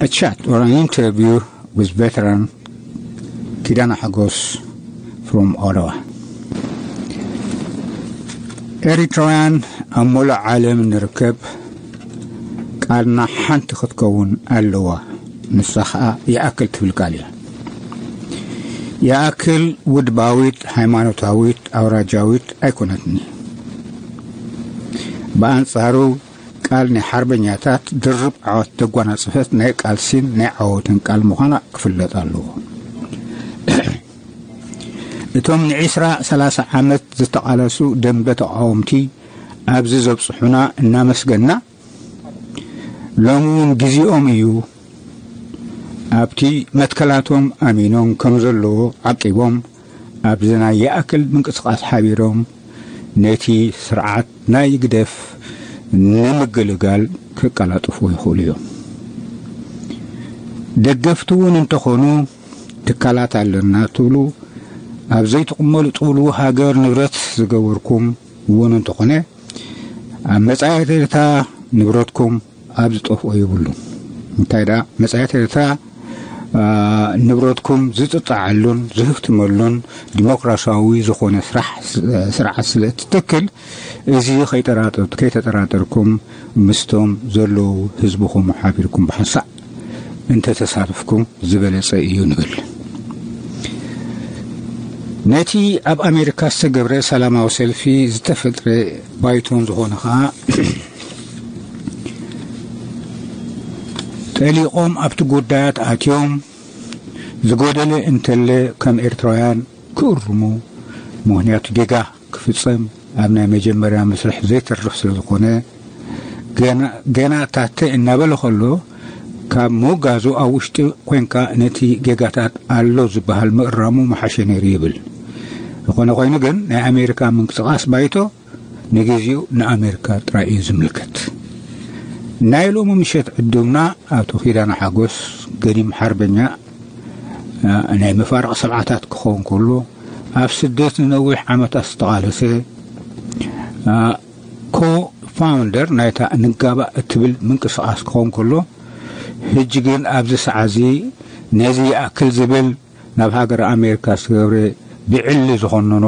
A chat or an interview with veteran Kidana Hagos from Ottawa. ኤሪትራውያን ኣብ መላእ ዓለም ንርከብ፣ ቃልና ሓንቲ ክትከውን ኣለዋ። ንሳ ኸኣ ይኣክል ትብል ቃል እያ። ይኣክል ውድባዊት፣ ሃይማኖታዊት፣ ኣውራጃዊት ኣይኮነትኒ። ብኣንጻሩ ቃል ናይ ሓርበኛታት ድርብ ዓወት ተጓናጽፈት ናይ ቃልሲን ናይ ዓወትን ቃል ምዃና ክፍለጥ ኣለዎ። እቶም ንዒስራ ሰላሳ ዓመት ዝተቓለሱ ደንበ ተቓወምቲ ኣብዚ ዘብጽሑና እናመስገና፣ ሎሚ እውን ግዜኦም እዩ። ኣብቲ መትከላቶም ኣሚኖም ከም ዘለዎ ዓቂቦም ኣብዚ ናይ ይኣክል ምንቅስቓስ ሓቢሮም ነቲ ስርዓት ናይ ግደፍ ንምግልጋል ክቀላጥፉ ይኽእሉ እዮም። ደገፍቲ እውን እንተኾኑ ትካላት ኣለና ትብሉ፣ ኣብ ዘይትቕመሉ ትብሉ፣ ሃገር ንብረት ዝገበርኩም እውን እንተኾነ ኣብ መጻኢት ኤርትራ ንብረትኩም ኣብ ዝጠፍኦ የብሉን። እንታይ ደኣ መጻኢት ኤርትራ ንብረትኩም ዝጥጣዓሉን ዝህፍትመሉን ዲሞክራሲያዊ ዝኾነ ስራሕ ስርዓት ስለ እትተክል፣ እዚ ከይጠራጠር- ከይተጠራጠርኩም ምስቶም ዘለዉ ህዝብኹም ሓቢርኩም ብሓንሳእ እንተተሳትፍኩም ዝበለጸ እዩ ንብል። ነቲ ኣብ ኣሜሪካ ዝተገብረ ሰላማዊ ሰልፊ ዝተፈጥረ ባይቶን ዝኾነ ኸኣ ጠሊቖም ኣብቲ ጉዳያት ኣትዮም ዝጎደለ እንተለ ከም ኤርትራውያን ክእርሙ፣ ምኽንያቱ ጌጋ ክፍጸም ኣብ ናይ መጀመርያ መስርሕ ዘይተርፍ ስለ ዝኾነ፣ ገና- ገና ታተ እናበለ ከሎ ካብ ምውጋዙ ኣብ ውሽጢ ኮንካ ነቲ ጌጋታት ኣሎ ዝበሃል ምእራሙ ምሓሸ ነይሩ ይብል። ዝኾነ ኮይኑ ግን ናይ ኣሜሪካ ምንቅስቓስ ባይቶ ንግዜኡ ንኣሜሪካ ጥራይ እዩ ዝምልከት። ናይ ሎሚ ምሸት ዕዱምና ኣቶ ኪዳነ ሓጎስ ገዲም ሓርበኛ ናይ መፋርቕ ሰብዓታት ክኸውን ከሎ ኣብ ስደት ንነዊሕ ዓመታት ዝተቓለሰ ኮ ፋውንደር ናይታ ንጋባእ እትብል ምንቅስቓስ ክኸውን ከሎ ሕጂ ግን ኣብዚ ሰዓዚ ነዚ ይኣክል ዝብል ናብ ሃገር ኣሜሪካ ዝተገብረ ብዕሊ ዝኾነኖ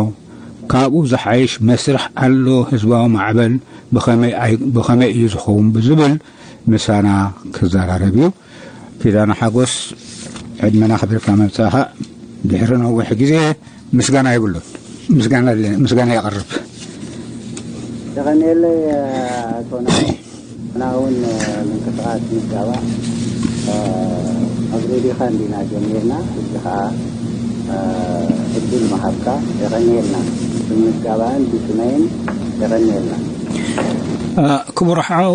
ካብኡ ዝሓይሽ መስርሕ ኣሎ ህዝባዊ ማዕበል ብኸመይ ኣይ- ብኸመይ እዩ ዝኸውን ብዝብል ምሳና ክዘራረብ እዩ። ኪዳነ ሓጎስ ዕድመና ኣኽቢርካ ምምጻእኻ ድሕሪ ነዊሕ ግዜ ምስጋና የብሉን። ምስጋና ኣለ- ምስጋና የቕርብ። የቐንየለይ ኣቶ ናሆም። ንሕና እውን ምንቅስቓስ ንጋባእ ኣብ ሬድዮኻ እንዲና ጀሚርና፣ ሕጂ ከዓ ዕድል ምሃብካ የቐንየልና። ብንጋባእን ብስመይን የቐንየልና። ክቡር ሓው፣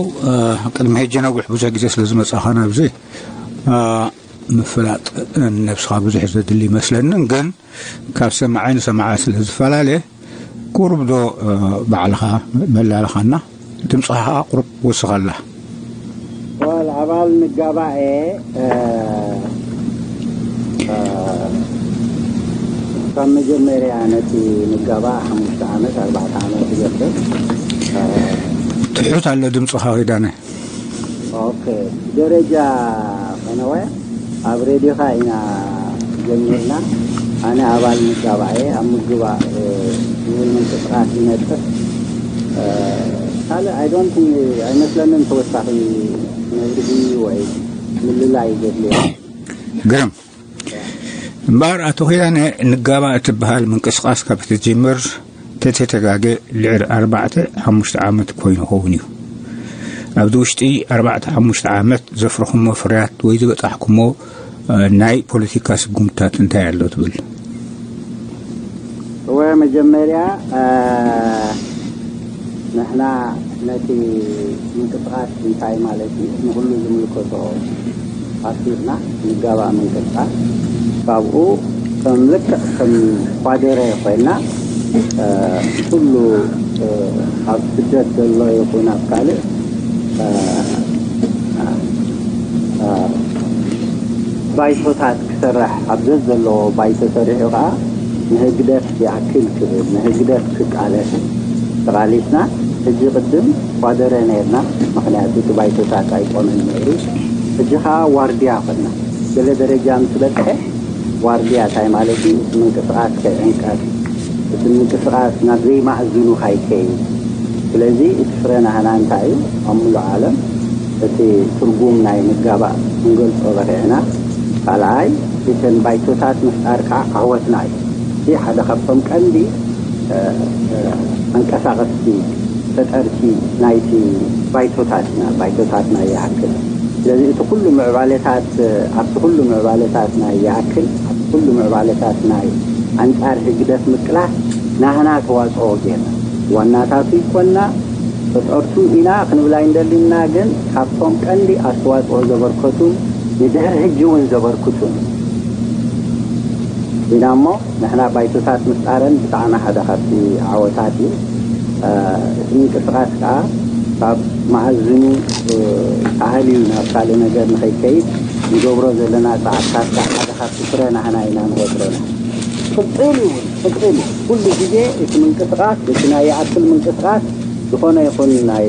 ቅድሚ ሕጂ ነዊሕ ብዙሕ ግዜ ስለ ዝመጻኻ ናብዚ ምፍላጥ ነብስኻ ብዙሕ ዘድሊ ይመስለንን፣ ግን ካብ ሰማዓይ ንሰማዓ ስለ ዝፈላለ ቁሩብ ዶ ባዕልኻ መላልኻና፣ ድምፅኻ ከዓ ቁሩብ ወስኸላ። ዋል ኣባል ንጋባእ እየ። ካብ መጀመርያ ነቲ ንጋባእ ሓሙሽተ ዓመት ኣርባዕተ ዓመት ዝገብር ትሑት ኣሎ ድምፅኻ ኪዳነ። ኦኬ፣ ደረጃ ፈነወ ኣብ ሬድዮኻ ኢና ጀሚርና። ኣነ ኣባል ምጋባእ እየ፣ ኣብ ምግባእ ዝብል ምንቅስቃስ ይነጥፍ። ካልእ ኣይ ዶንት ቲንክ፣ ኣይመስለንን ተወሳኺ መብርሂ ወይ ምልላይ ዘድልዮ። ግርም እምበኣር ኣቶ ኪዳነ፣ ንጋባእ እትበሃል ምንቅስቃስ ካብ እትጅምር ተተተጋገ ልዕሊ ኣርባዕተ ሓሙሽተ ዓመት ኮይኑ ይኸውን እዩ። ኣብዚ ውሽጢ ኣርባዕተ ሓሙሽተ ዓመት ዘፍረኹሞ ፍርያት ወይ ዝበጻሕኩሞ ናይ ፖለቲካ ስጉምትታት እንታይ ኣሎ ትብል? እወ፣ መጀመርያ ንሕና ነቲ ምንቅስቃስ እንታይ ማለት እዩ ንኩሉ ዝምልከቶ ኣሲርና ንጋባእ ምንቅስቃስ ካብኡ ከም ልክዕ ከም ኳደረ ኮይና ኩሉ ኣብ ስደት ዘሎ ይኹን ኣብ ካልእ ባይቶታት ክሰርሕ ኣብ ዘዘለዎ ባይቶ ሰሪሑ ከዓ ንህግደፍ ይኣክል ክብል ንህግደፍ ክቃለስ ተቓሊስና። ሕጂ ቅድም ኳደረ ነርና፣ ምኽንያቱ እቲ ባይቶታት ኣይቆመን ነይሩ። ሕጂ ከዓ ዋርድያ ኾና። ገለ ደረጃ ምስ በፅሐ ዋርድያ እንታይ ማለት እዩ? እቲ ምንቅስቃስ ከይዕንቀፍ፣ እቲ ምንቅስቃስ ናብ ዘይማእዝኑ ካይከይድ። ስለዚ እቲ ፍረ ናህና እንታይ እዩ? ኣብ ሙሉእ ዓለም እቲ ትርጉም ናይ ምጋባእ ክንገልፆ በቂዕና። ካልኣይ፣ እተን ባይቶታት ምፍጣር ከዓ ዓወትና እዩ። እዚ ሓደ ካብቶም ቀንዲ ኣንቀሳቐስቲ ፈጠርቲ ናይቲ ባይቶታትና፣ ባይቶታትና ይኣክል። ስለዚ እቲ ኩሉ ምዕባለታት ኣብቲ ኩሉ ምዕባለታት ናይ ይኣክል ኣብቲ ኩሉ ምዕባለታት ናይ ኣንጻር ህግደፍ ምቅላስ ናህና ተዋጽኦ ጌርና ዋናታቱ ይኮና ፈጠርቱ ኢና ክንብል ኣይንደሊና። ግን ካብቶም ቀንዲ ኣስተዋጽኦ ዘበርከቱን ንድሕሪ ሕጂ እውን ዘበርክቱን ኢና እሞ ንሕና ባይቶታት ምፍጣረን ብጣዕሚ ሓደ ካብቲ ዓወታት እዩ። እቲ ምንቅስቃስ ከዓ ካብ መኣዝኑ ኣህልዩ ናብ ካልእ ነገር ንኸይከይድ ንገብሮ ዘለና ፃዕርታት ከዓ ሓደ ካብቲ ፍረ ናህና ኢና ንቆፅረና። ቅፅል እዩ እውን ቅፅል እዩ። ኩሉ ግዜ እቲ ምንቅስቃስ እቲ ናይ ይኣክል ምንቅስቃስ ዝኾነ ይኹን ናይ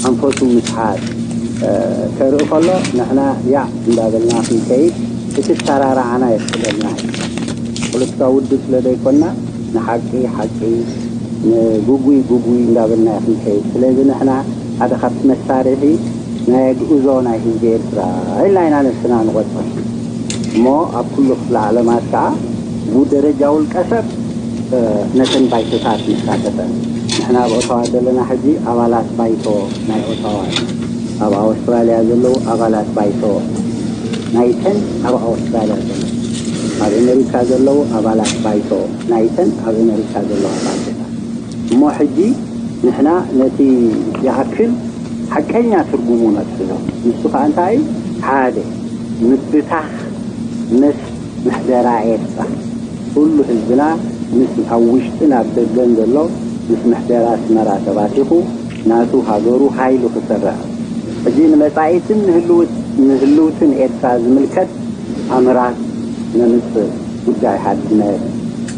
ኣንፈቱ ምስሓት ከርኢ ከሎ ንሕና ያዕ እንዳበልና ክንከይድ እቲ ኣሰራርዓና የፍቅደልና። ፖለቲካዊ ውድብ ስለ ዘይኮና ንሓቂ ሓቂ ንጉጉይ ጉጉይ እንዳበልና ክንከይድ። ስለዚ ንሕና ሓደ ካብቲ መሳርሒ ናይ ኣግእዞ ናይ ህዝቢ ኤርትራ ኢልና ኢና ነብስና ንቆጽር። እሞ ኣብ ኩሉ ክፍለ ዓለማት ከዓ ብደረጃ ውልቀ ሰብ ነተን ባይቶታት ንሳተፈን። ንሕና ኣብ ኦታዋ ዘለና ሕጂ ኣባላት ባይቶ ናይ ኦታዋ፣ ኣብ ኣውስትራልያ ዘለዉ ኣባላት ባይቶ ናይተን ኣብ ኣውስትራልያ ዘለዉ፣ ኣብ ኣሜሪካ ዘለዉ ኣባላት ባይቶ ናይተን ኣብ ኣሜሪካ ዘለዋ ባይቶታት። እሞ ሕጂ ንሕና ነቲ ይኣክል ሓቀኛ ትርጉሙ ነትሕዞ። ንሱ ከዓ እንታይ እዩ? ሓደ ምብታኽ ምስ ምሕደራ ኤርትራ። ኩሉ ህዝብና ምስ ኣብ ውሽጥን ኣብ ደገን ዘሎ ምስ ምሕደራ ኣስመራ ተባቲኹ ናቱ ሃገሩ ሃይሉ ክሰርዕ። ሕጂ ንመጻኢትን ንህልውት- ንህልውትን ኤርትራ ዝምልከት ኣምራት ነምጽእ። ጉዳይ ሓድነት፣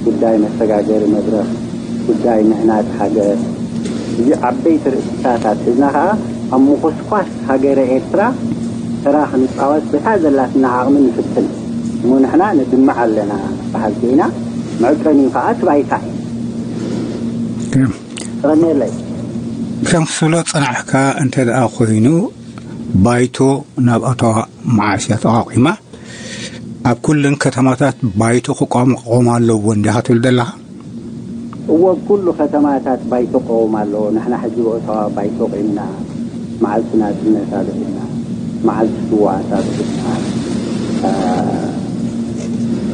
ጉዳይ መሰጋገሪ መድረኽ፣ ጉዳይ ምህናጽ ሃገር። እዚ ዓበይቲ ርእስታት ኣትሒዝና ከኣ ኣብ ምኹስኳስ ሃገረ ኤርትራ ተራ ክንጻወት በታ ዘላትና ዓቕሚ ንፍትን። እሞ ንሕና ንድምዕ ኣለና በሃልቲ ኢና። መዕቀኒኡ ከኣ እቲ ባይታ እዩ። የቐንየለይ። ከም ክትብሎ ጸናሕካ እንተ ደኣ ኮይኑ፣ ባይቶ ናብ ኣታዋ መዓስ እያ ተቋቒማ? ኣብ ኩለን ከተማታት ባይቶ ክቋቋም ኣለዎ እንዲኻ ትብል ዘለኻ? እወ፣ ኣብ ኩሉ ከተማታት ባይቶ ክቆም ኣለዎ። ንሕና ሕጂ ብኦታዋ ባይቶ ቂምና፣ መዓልቲ ናጽነት ኣልዒልና፣ መዓልቲ ስውኣት ኣልዒልና። እ፣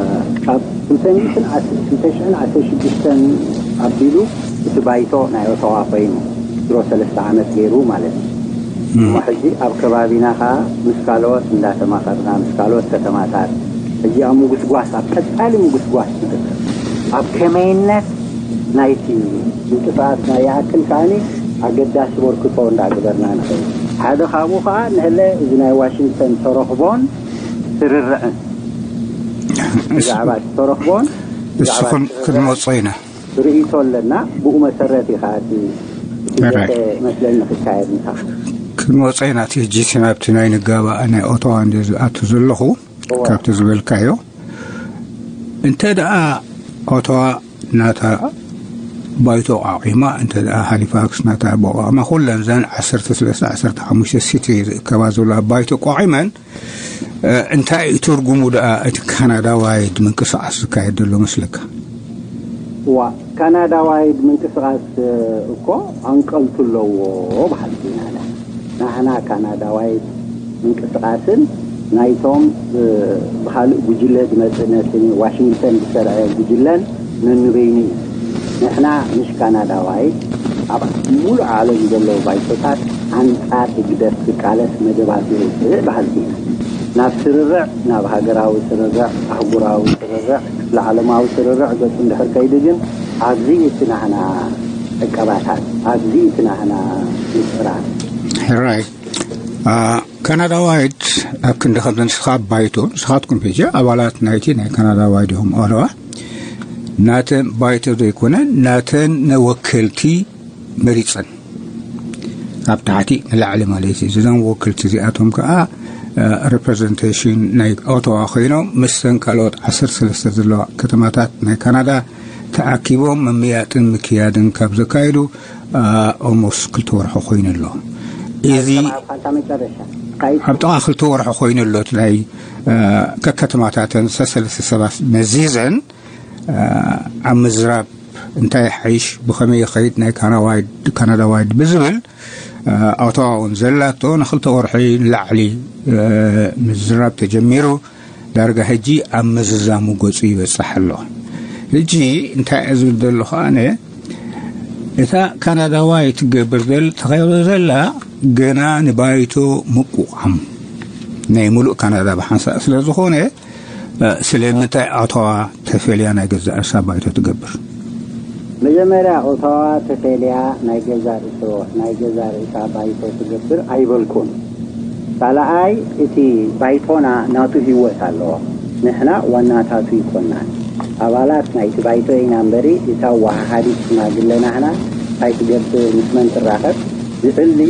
እ፣ ካብ ክልተ ሚእትን ዓስ-፣ ክልተ ሽሕን ዓሰርተ ሽዱሽተን ኣቢሉ እቲ ባይቶ ናይ ኦታዋ ኮይኑ ድሮ ሰለስተ ዓመት ገይሩ ማለት እዩ። እሞ ሕጂ ኣብ ከባቢና ኸዓ ምስ ካልኦት እንዳተማኸርና ምስ ካልኦት ከተማታት ሕጂ ኣብ ምጉስጓስ ኣብ ቀጻሊ ምጉስጓስ ንርከብ። ኣብ ከመይነት ናይቲ ምንቅስቃስ ናይ ይኣክል ከዓኒ ኣገዳሲ በርክቶ እንዳገበርና ንኸይድ። ሓደ ካብኡ ኸዓ ንህለ እዚ ናይ ዋሽንግተን ተረኽቦን ስርርዕን ብዛዕባ ተረኽቦን እሱ ብዛዕባ ክን- ስርርዕን ክንመጾ ኢና። ርእይቶ ኣለና። ብኡ መሰረት እዩ ከዓ እቲ እቲ ኣራይ። ዘተ መስለኒ ክካየድ ምሳኻ። ክንወፀ ኢና እቲ ሕጂ እቲ ናብቲ ናይ ንጋባእ ናይ ኦቶዋ እንደ ዝኣቱ ዘለኹ እዋ። ካብቲ ዝበልካዮ እንተ ደኣ ኦቶዋ ናታ ባይቶ ቋቒማ እንተ ደኣ ሃሊፋክስ ናታ ቦቋማ ኩለን ዘን ዓሰርተ ሰለስተ ዓሰርተ ሓሙሽተ ሲቲ ዝእከባ ዘሎ ኣብ ባይቶ ቋቒመን እንታይ እዩ ትርጉሙ ደኣ እቲ ካናዳዋይድ ምንቅስቃስ ዝካየድ ዘሎ መስለካ? እዋ፣ ካናዳዋይድ ምንቅስቃስ እኮ ኣንቀልቱ ኣለዎ በሃልቲ ኢና። ናህና ካናዳዋይድ ምንቅስቃስን ናይቶም ብካልእ ጉጅለ ዝመፅእ ነቲ ዋሽንግተን ዝሰርዐ ጉጅለን ነንበይኑ እዩ። ንሕና ምሽ ካናዳዋይድ ኣብ ሙሉእ ዓለም ዘለዉ ባይቶታት ኣንጻር ህግደፍ ዝቃለስ መደባት የውፅእ በሃልቲ ኢና። ናብ ስርርዕ፣ ናብ ሃገራዊ ስርርዕ፣ ኣህጉራዊ ስርርዕ፣ ክፍለ ዓለማዊ ስርርዕ ገፁ እንድሕር ከይዱ ግን ኣብዚ እቲ ናህና ዕቀባታት፣ ኣብዚ እቲ ናህና ምፅራር። ሕራይ ካናዳዋይድ ኣብ ክንዲ ከም ንስኻ ባይቶ ንስኻትኩም ሕጂ ኣባላት ናይቲ ናይ ካናዳዋይድ ኢኹም ኣለዋ ናተን ባይቶ ዘይኮነ ናተን ወከልቲ መሪጸን ካብ ታሕቲ ንላዕሊ ማለት እዩ። እዞም ወከልቲ እዚኣቶም ከዓ ሪፕሬዘንቴሽን ናይ ኦቶዋ ኮይኖም፣ ምስተን ካልኦት ዓሰርተ ሰለስተ ዘለዋ ከተማታት ናይ ካናዳ ተኣኪቦም መምያጥን ምክያድን ካብ ዘካየዱ ኦሞስ ክልተ ወርሒ ኮይኑ ኣሎ። እዚ ኣብ ጥቓ ክልተ ወርሒ ኮይኑ ኣሎ። ናይ ከከተማታተን ሰሰለስተ ሰባት መዚዘን ኣብ ምዝራብ እንታይ ሓይሽ፣ ብኸመይ ይኸይድ ናይ ካናዳዋይድ ብዝብል ኣውታዋውን ዘላቶ ንክልተ ወርሒ ንላዕሊ ምዝራብ ተጀሚሩ፣ ዳርጋ ሕጂ ኣብ ምዝዛሙ ገጹ ይበጽሕ ኣሎ። ሕጂ እንታይ እየ ዝብል ዘለኹ ኣነ፣ እታ ካናዳዋይ ትገብር ዘል ተኸይሮ ዘላ ገና ንባይቶ ምቁቋም ናይ ሙሉእ ካናዳ ብሓንሳእ ስለ ዝኾነ፣ ስለምንታይ ኣቶዋ ተፈልያ ናይ ገዛእ ርእሳ ባይቶ ትገብር? መጀመርያ ኦታዋ ተፈልያ ናይ ገዛ ርእሶ ናይ ገዛ ርእሳ ባይቶ ትገብር ኣይበልኩን። ካልኣይ፣ እቲ ባይቶና ናቱ ህይወት ኣለዎ። ንሕና ዋናታቱ ይኮናን፣ ኣባላት ናይቲ ባይቶ ኢና እምበሪ፣ እታ ወሃሃዲት ሽማግለ ናህና እንታይ ትገብር፣ ምስ መን ትራኸብ ዝዕሊ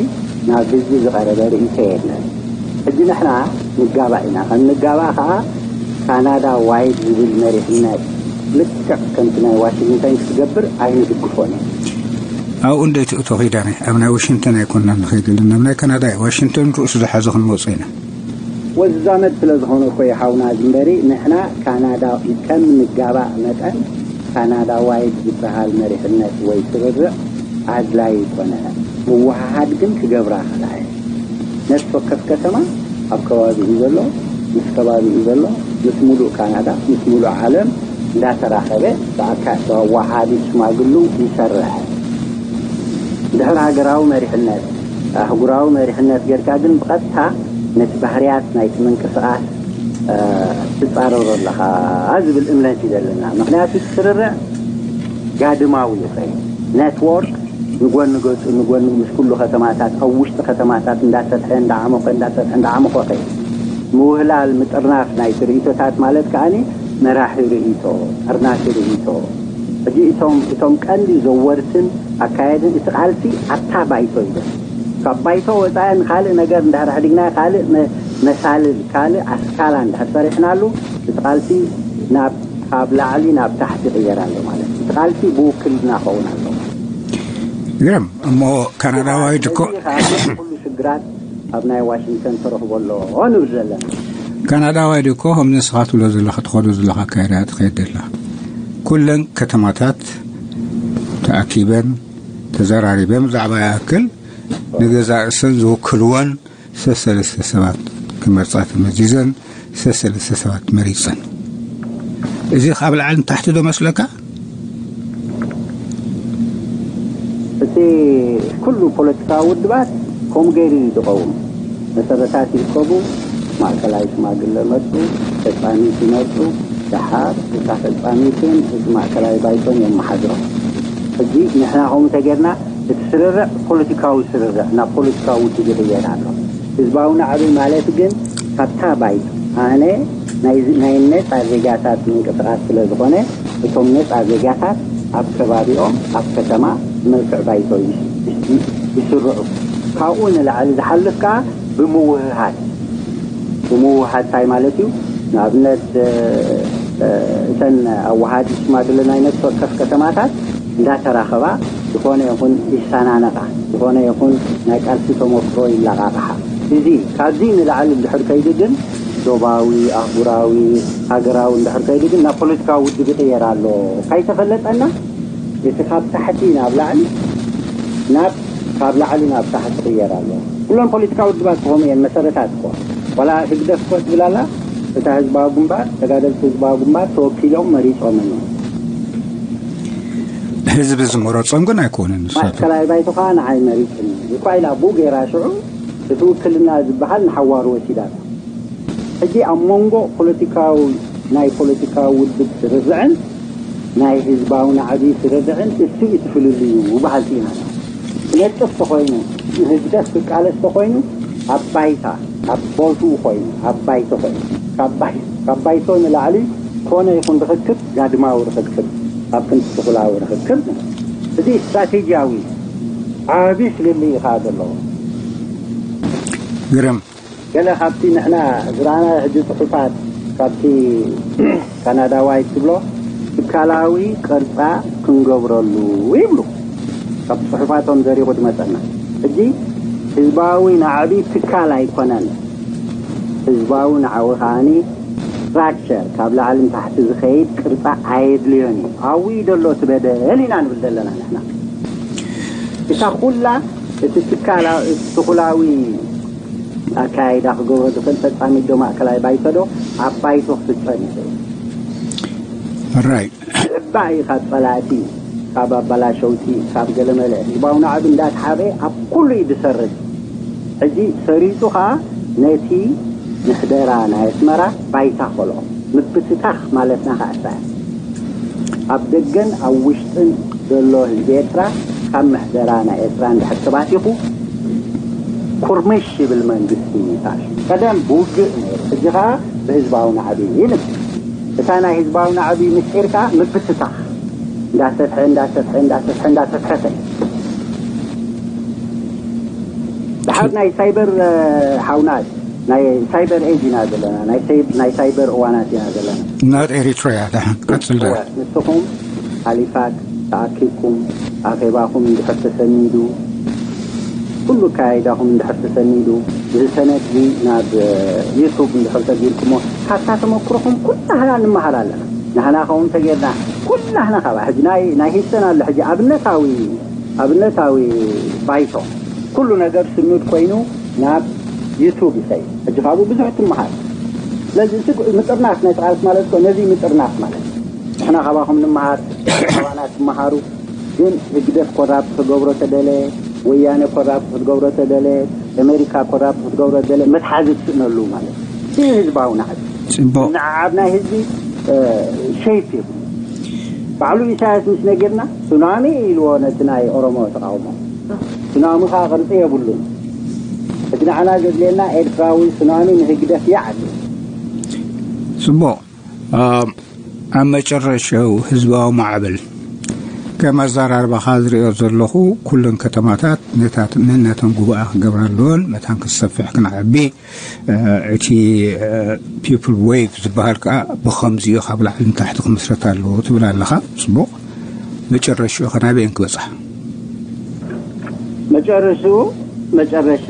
ናብ ህዝቢ ዝቐረበ ርእይቶ የለን። ሕጂ ንሕና ንጋባእ ኢና። ከም ንጋባእ ከኣ ካናዳ ዋይድ ዝብል መሪሕነት ልክዕ ከምቲ ናይ ዋሽንግተን ክትገብር ኣይንድግፎን ኢና። ኣብኡ እንደ ትእቶ ኺዳነ ኣብ ናይ ዋሽንግተን ኣይኮንና ንኸይድ ዘለና፣ ኣብ ናይ ካናዳ እዩ። ዋሽንግተን ርእሱ ዝሓዘ ክንመጾ ኢና። ወዛመድ ስለ ዝኾነ እኮ እዩ ሓውና ዝንበሪ። ንሕና ካናዳ ከም ንጋባእ መጠን ካናዳ ዋይድ ዝበሃል መሪሕነት ወይ ስርርዕ ኣድላይ ይኮነ። ምውሃሃድ ግን ክገብራ ከላ እየ። ነፍሲ ወከፍ ከተማ ኣብ ከባቢኡ ዘሎ፣ ምስ ከባቢኡ ዘሎ፣ ምስ ሙሉእ ካናዳ፣ ምስ ሙሉእ ዓለም እንዳተራኸበ ብኣካ-፣ ብኣወሃሃዲ ሽማግሉ ይሰርሕ። ድሕሪ ሃገራዊ መሪሕነት፣ ኣህጉራዊ መሪሕነት ጌርካ ግን ብቐጥታ ነቲ ባህርያት ናይቲ ምንቅስቓስ፣ እ፣ ትጻረሮ ኣለኻ ዝብል እምነት እዩ ዘለና። ምኽንያቱ እቲ ስርርዕ ጋድማዊ እዩ ኸይኑ። ኔትዎርክ ንጎኒ ገጹ፣ ንጎኒ ምስ ኩሉ ከተማታት፣ ኣብ ውሽጢ ከተማታት እንዳሰፍሐ፣ እንዳዓመቐ፣ እንዳሰፍሐ፣ እንዳዓመቐ ኸይኑ። ምውህላል፣ ምጥርናፍ ናይቲ ርእይቶታት ማለት ከኣኒ መራሒ ርእይቶ፣ ጠርናፊ ርእይቶ። ሕጂ እቶም፣ እቶም ቀንዲ ዘወርትን ኣካየድን እቲ ቃልሲ ኣብታ ባይቶ እዩ ዘሎ። ካብ ባይቶ ወጻኢ ንኻልእ ነገር እንድሕር ኣሕዲግና፣ ካልእ መ-፣ መሳልል፣ ካልእ ኣስካላ እንድሕር ሰሪሕናሉ፣ እቲ ቃልሲ ናብ፣ ካብ ላዕሊ ናብ ታሕቲ ይቕየር ኣሎ ማለት እዩ። እቲ ቃልሲ ብውክልና ክኸውን ኣለዎ። ግርም እሞ፣ ካናዳዋይ ድኮ ነዚ ኸኣ ኩሉ ሽግራት ኣብ ናይ ዋሽንግተን ተረኽቦ ኣሎ ንብል ዘለና። ካናዳዋይ ድኮ ከም ንስኻ ትብሎ ዘለኻ፣ ትኸዶ ዘለኻ ኣካይዳ ትኸይድ ዘላ። ኩለን ከተማታት ተኣኪበን ተዘራሪበን ብዛዕባ ይኣክል ንገዛእ ርእሰን ዝውክልወን ሰሰለስተ ሰባት ክመርጻ ተመዚዘን ሰሰለስተ ሰባት መሪጸን። እዚ ካብ ላዕሊ ንታሕቲ ዶ መስለካ? እቲ ኩሉ ፖለቲካዊ ውድባት ከምኡ ገይሩ እዩ ዝቐውም። መሰረታት ይርከቡ፣ ማእከላይ ሽማግለ መርጹ፣ ፈጻሚት ይመርጹ፣ ደሓር እታ ፈጻሚትን እቲ ማእከላይ ባይቶን የመሓድሮ። ሕጂ ንሕና ከምኡ ተጌርና እቲ ስርርዕ ፖለቲካዊ ስርርዕ ናብ ፖለቲካዊ ውድብ ይቕየር ኣሎ። ህዝባዊ ናዕቢ ማለት ግን ካብታ ባይቶ ኣነ ናይ፣ ናይ ነጻ ዜጋታት ምንቅስቓስ ስለ ዝኾነ እቶም ነጻ ዜጋታት ኣብ ከባቢኦም ኣብ ከተማ ብመልክዕ ባይቶ ይስ-፣ ይስ-፣ ይስርዑ። ካብኡ ንላዕሊ ዝሓልፍ ከኣ ብምውህሃድ፣ ብምውህሃድ እንታይ ማለት እዩ? ንኣብነት፣ እ፣ እ፣ እተን ኣወሃዲ ሽማግለ ናይ ነፍሲ ወከፍ ከተማታት እንዳተራኸባ ዝኾነ ይኹን ይሰናነቓ፣ ዝኾነ ይኹን ናይ ቃልሲ ተመክሮ ይለቓቕሓ። እዚ ካብዚ ንላዕሊ እንድሕር ከይዱ ግን ዶባዊ፣ ኣህጉራዊ፣ ሃገራዊ እንድሕር ከይዱ ግን ናብ ፖለቲካዊ ውድብ ይቕየር ኣሎ። ካይተፈለጠና እቲ ካብ ታሕቲ ናብ ላዕሊ ናብ፣ ካብ ላዕሊ ናብ ታሕቲ ይቕየር ኣሎ። ኩለን ፖለቲካዊ ውድባት ከምኡ እየን፣ መሰረታት እኮ። ዋላ ህግደፍ እኮ ትብል ኣላ፣ እታ ህዝባዊ ግንባር፣ ተጋደልቲ ህዝባዊ ግንባር ተወኪሎም መሪጾም እዮም። ህዝቢ ዝመረጾም ግን ኣይኮኑን ንሳቶም። ማእከላይ ባይቶ ከኣ ንዓይ መሪጽኒ እኳ ኢላ ብኡ ገይራ ሽዑ እቲ ውክልና ዝበሃል ንሓዋሩ ወሲዳቶ። ሕጂ ኣብ መንጎ ፖለቲካዊ፣ ናይ ፖለቲካዊ ውድብ ስርርዕን ናይ ህዝባዊ ናዕቢ ስርርዕን እሱ እዩ እቲ ፍልልዩ በሃልቲ ኢና። ክነጥፍ ተኾይኑ፣ ንህግደፍ ክቃለስ ተኾይኑ፣ ኣብ ባይታ፣ ኣብ ቦትኡ ኮይኑ፣ ኣብ ባይቶ ኮይኑ፣ ካብ ባይ-፣ ካብ ባይቶ ንላዕሊ ኮነ ይኹን ርኽክብ ጋድማዊ ርኽክብ፣ ኣብ ክንዲ ስኹላዊ ርኽክብ፣ እዚ ስትራቴጂያዊ ዓቢ ፍልልይ እዩ ከኣ ዘለዎ። ግርም። ገለ ካብቲ ንሕና ዝረኣና ሕጂ ጽሑፋት ካብቲ ካናዳዋይ ትብሎ ትካላዊ ቅርጻ ክንገብረሉ ይብሉ። ካብ ጽሑፋቶም ዘሪቑ ዝመጸና ሕጂ ህዝባዊ ናዕቢ ትካል ኣይኮነን። ህዝባዊ ናዕቢ ከዓኒ ስትራክቸር ካብ ላዕሊ ንታሕቲ ዝኸይድ ቅርጻ ኣየድልዮን እዩ። ኣብኡ እዩ ዘሎ እቲ በደል ኢና ንብል ዘለና ንሕና። እታ ኩላ እቲ ትካላ እቲ ትኹላዊ ኣካያይዳ ክገብሮ ዝኽእል ፈጻሚት ዶ ማእከላይ ባይቶ ዶ ኣብ ባይቶ ክፍጸም ይኽእል። ራይ ዝዕባእ እዩ ካብ ጸላእቲ፣ ካብ ኣባላሸውቲ፣ ካብ ገለመለ ህዝባዊ ናዕቢ እንዳተሓበ ኣብ ኩሉ እዩ ዝሰርግ። ሕጂ ሰሪጹ ኸዓ ነቲ ምሕደራ ናይ ኣስመራ ባይታ ኸልኦ ምብትታኽ ማለትና ኸዓ እሳ እያ። ኣብ ደገን ኣብ ውሽጥን ዘሎ ህዝቢ ኤርትራ ካብ ምሕደራ ናይ ኤርትራ እንድሕር ተባቲኹ ኩርምሽ ይብል መንግስቲ ይፋሽ። ቀደም ብውግእ ነይሩ፣ ሕጂ ኸዓ ብህዝባዊ ናዕቢ ይብል። እታ ናይ ህዝባዊ ናዕቢ ምስጢር ከኣ ምብትታኽ እንዳሰፍሐ እንዳሰፍሐ እንዳሰፍሐ እንዳሰፍሐ ከ ድሓር ናይ ሳይበር ሓውናት ናይ ሳይበር ኤጅ ኢና ዘለና፣ ናይ ሳይበር እዋናት ኢና ዘለና። ናት ኤሪትሪያ ደሓን ቀጽል ዳ ንስኹም ሃሊፋክ ተኣኪብኩም ኣኼባኹም እንድሕር ተሰኒዱ፣ ኩሉ ኣካያይዳኹም እንድሕር ተሰኒዱ፣ እዚ ሰነድ እዚ ናብ ዩቱብ እንድሕር ሰጊርኩሞ ካብታ ተመክሮኹም ኩላህና ንመሃር ኣለና። ንሕና ከውን ተጌርና ኩላህና ካብ ሕጂ ናይ ናይ ሂሰን ኣሎ ሕጂ ኣብነታዊ ኣብነታዊ ባይቶ ኩሉ ነገር ስኑድ ኮይኑ ናብ ዩቱብ ይኸይድ። ሕጂ ካብኡ ብዙሕ ትመሃር። ስለዚ እቲ ምጥርናፍ ናይ ቃልሲ ማለት እኮ ነዚ ምጥርናፍ ማለት እዩ። ንሕና ካባኹም ንምሃር፣ ካባና ትመሃሩ። ግን ህግደፍ ኮራፕት ክገብሮ ተደለ፣ ወያነ ኮራፕት ክትገብሮ ተደለ፣ ኣሜሪካ ኮራፕት ክትገብሮ ተደለ መትሓዚ ትስእነሉ ማለት እዩ። እዚ ህዝባዊ ናዕቢ ጽቡቕ ንዓብ ናይ ህዝቢ ሸይፕ ይብሉ። ባዕሉ ኢሳያስ ምስ ነጊርና ሱናሚ ኢልዎ ነቲ ናይ ኦሮሞ ተቃውሞ። ሱናሚ ከዓ ቅርፂ የብሉን። እቲ ንዓና ዘድልየና ኤርትራዊ ሱናሚ ንህግደፍ ይዓቢ። ጽቡቕ። ኣብ መጨረሻው ህዝባዊ ማዕበል ከም ኣዘራርባኻ ዝሪኦ ዘለኹ ኩለን ከተማታት ነታት ነነተን ጉባኣ ክገብራ ኣለወን መታን ክሰፍሕ ክንዓቢ እቲ ፒፕል ዌቭ ዝበሃል ከዓ ብኸምዚኡ ካብ ላዕሊ ንታሕቲ ክምስረት ኣለዎ ትብል ኣለኻ። ጽቡቕ። መጨረሻኡ ከ ናበየን ክበጽሓ? መጨረሽኡ መጨረሻ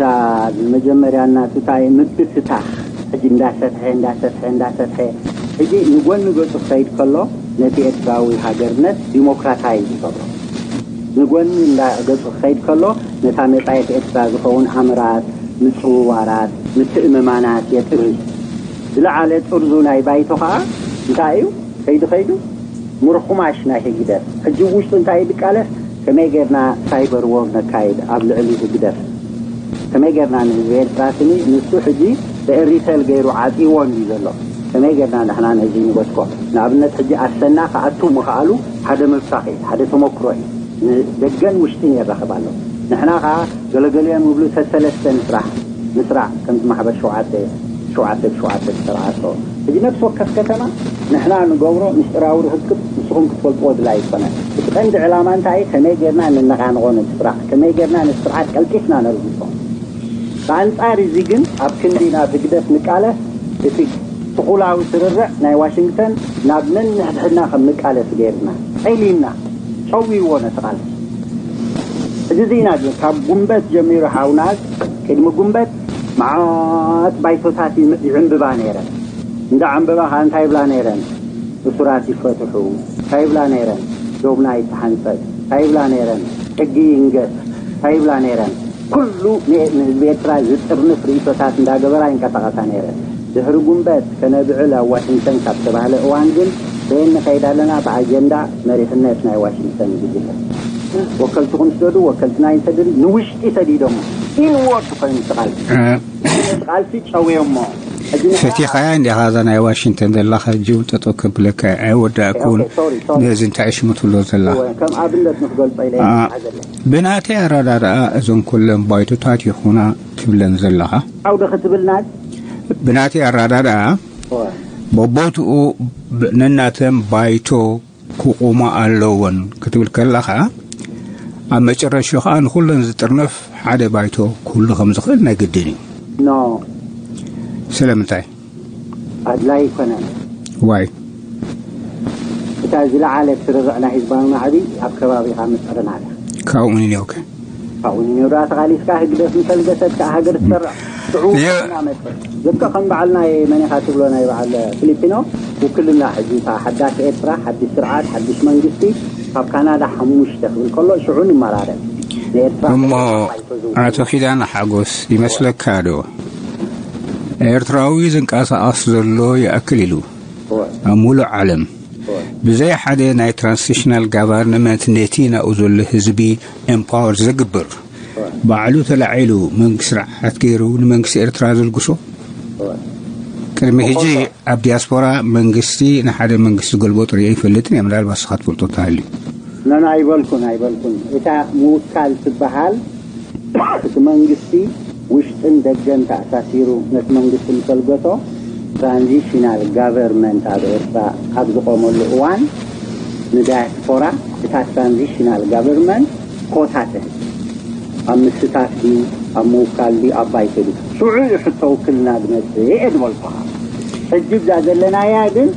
መጀመርያ እናቱ እንታይ ምብትታኽ ሕጂ እንዳሰፍሐ እንዳሰፍሐ እንዳሰፍሐ ሕጂ ንጎኒ ገጹ ክኸይድ ከሎ ነቲ ኤርትራዊ ሃገርነት ዲሞክራታይዝ ይገብሮ። ንጎኒ እንዳ ገጹ ክኸይድ ከሎ ነታ መጻኢት ኤርትራ ዝኸውን ኣምራት፣ ምጽውዋራት፣ ምትእምማናት የጥሪ። ዝለዓለ ጥርዙ ናይ ባይቶ ኸኣ እንታይ እዩ? ከይዱ ከይዱ ምርኹማሽ ናይ ህግደፍ ሕጂ ውሽጡ እንታይ እዩ ዝቃለስ? ከመይ ጌርና ሳይበር ዎር ነካይድ ኣብ ልዕሊ ህግደፍ? ከመይ ጌርና ንህዝቢ ኤርትራ ስኒ ንሱ ሕጂ ብኤሪሰል ገይሩ ዓጽይዎ እንድዩ ዘሎ። ከመይ ጌርና ንሕና ነዚ ንበትኮ? ንኣብነት ሕጂ ኣሰና ክኣቱ ምኽኣሉ ሓደ ምብታኽ እዩ፣ ሓደ ተመክሮ እዩ። ንደገን ውሽጥን የራኽብ ኣሎ። ንሕና ኸዓ ገለገሊኦም ይብሉ ሰሰለስተ ንስራሕ፣ ንስራዕ ከምቲ ማሕበር ሸውዓተ ሸውዓተ ብሸውዓተ ዝሰርዓቶ። ሕጂ ነፍሲ ወከፍ ከተማ ንሕና ንገብሮ ምስጢራዊ ርኽክብ ንስኹም ክትፈልጥዎ ድላይ ኣይኮነን። እቲ ቀንዲ ዕላማ እንታይ እዩ? ከመይ ጌርና ንነቓንቖ ነቲ ስራዕ? ከመይ ጌርና ነቲ ስርዓት ቀልጢፍና ነርግጾ? ብኣንጻር እዚ ግን ኣብ ክንዲ ናብ ህግደፍ ንቃለስ እቲ ትኹላዊ ስርርዕ ናይ ዋሽንግተን ናብ ነንሕድሕድና ከም ንቃለስ ገይርና ጸሊምና ጨዊዎ ነቲ ቃልሲ። ሕጂ እዚ ኢና ግን ካብ ጉንበት ጀሚሩ ሓውና ቅድሚ ጉንበት መዓት ባይቶታት ይም- ይዕንብባ ነይረን። እንዳ ዕንበባ ከዓ እንታይ ይብላ ነይረን? እሱራት ይፈትሑ እንታይ ይብላ ነይረን? ዶብና ይተሓንጸጽ እንታይ ይብላ ነይረን? ሕጊ ይንገስ እንታይ ይብላ ነይረን? ኩሉ ን- ንህዝቢ ኤርትራ ዝጥርንፍ ርእይቶታት እንዳገበራ ይንቀሳቐሳ ነይረን። ድሕሪ ጉንበት ከነብዕል ኣብ ዋሽንግተን ካብ ተባህለ እዋን ግን በየን ንኸይድ ኣለና? ብኣጀንዳ መሪሕነት ናይ ዋሽንግተን ጉጅለ። ወከልትኹም ስደዱ፣ ወከልትና ይንሰድድ፣ ንውሽጢ ሰዲዶሞ ኢንዎርድ ኮይኑ ትቓል ቃልሲ ጨውዮሞ። ሕጂ ንሕና ፈቲኻያ እንዲኻ እዛ ናይ ዋሽንግተን ዘለኻ ጅው ጠጠው ከብለካ ኣይወዳእኩን። ኦኬ፣ ሶሪ፣ ሶሪ። ነዚ እንታይ ሽሙ ትብሎ ዘለኻ? እወ፣ ከም ኣብነት ንክገልጾ ኢለ እየ ዝሓዘለይ። ብናተይ ኣረዳድኣ እዞን ኩለን ባይቶታት ይኹና ትብለን ዘለኻ? ዓውደ ክትብልና? ብናተይ ኣረዳድኣ እወ። በቦትኡ ብ- ነናተን ባይቶ ክቑማ ኣለወን ክትብል ከለኻ ኣብ መጨረሻ ከዓ ንኩለን ዝጥርነፍ ሓደ ባይቶ ክህሉ ከም ዝኽእል ናይ ግድን እዩ። ኖ። ስለምንታይ? ኣድላይ ኣይኮነን። ዋይ? እታ ዝለዓለ ስርርዕ ናይ ህዝባዊ ማዕቢ ኣብ ከባቢኻ ምፅዕርና እያ። ካብኡ ንንዮከ ካብኡ ንንዮ ደኣ ተቓሊስካ ህግደፍ ምሰልገሰት ከዓ ሃገር ትሰርዕ። ሽዑ የ- እናመፅእ ልክዕ ከም በዓል ናይ መን ኢኻ ትብሎ ናይ በዓል ፊሊፒኖ ውክልና፣ ሕጂ እታ ሓዳስ ኤርትራ ሓድሽ ስርዓት ሓድሽ መንግስቲ ካብ ካናዳ ሓሙሽተ ክብል ከሎ ሽዑ ንመራረብ ንኤርትራ እሞ ኣይተዝው ኣቶ ኪዳነ ሓጎስ ይመስለካ ዶ ኤርትራዊ ዝንቀሳቐስ ዘሎ ይኣክል ኢሉ ኣብ ሙሉእ ዓለም ብዘይ ሓደ ናይ ትራንሲሽናል ጋቨርንመንት ነቲ ናብኡ ዘሎ ህዝቢ ኤምፓወር ዝግብር ባዕሉ ተላዒሉ መንግስቲ ስርዓት ገይሩ ንመንግስቲ ኤርትራ ዘልግሶ? ቅድሚ ሕጂ ኣብ ዲያስፖራ መንግስቲ ንሓደ መንግስቲ ገልቦ ጥሪዮ ይፈልጥን እየ። ምናልባት ንስኻ ትፈልጦ እንተሃልዩ። ነን ኣይበልኩን ኣይበልኩን። እታ ምውካል ትበሃል እቲ መንግስቲ ውሽጥን ደገን ተኣሳሲሩ ነቲ መንግስቲ ምሰልገሶ ትራንዚሽናል ጋቨርንመንት ኣብ ኤርትራ ኣብ ዝቆመሉ እዋን ንዳያስፖራ እታ ትራንዚሽናል ጋቨርንመንት ኮታ ትህብ። ኣብ ምስታፍ ድዩ ኣብ ምውካል ድዩ ኣብ ባይቶ ድዩ ሽዑ እዩ ሕቶ ውክልና ዝመፅእ እየ ዝበልኩኻ። ሕጂ እዛ ዘለናያ ግን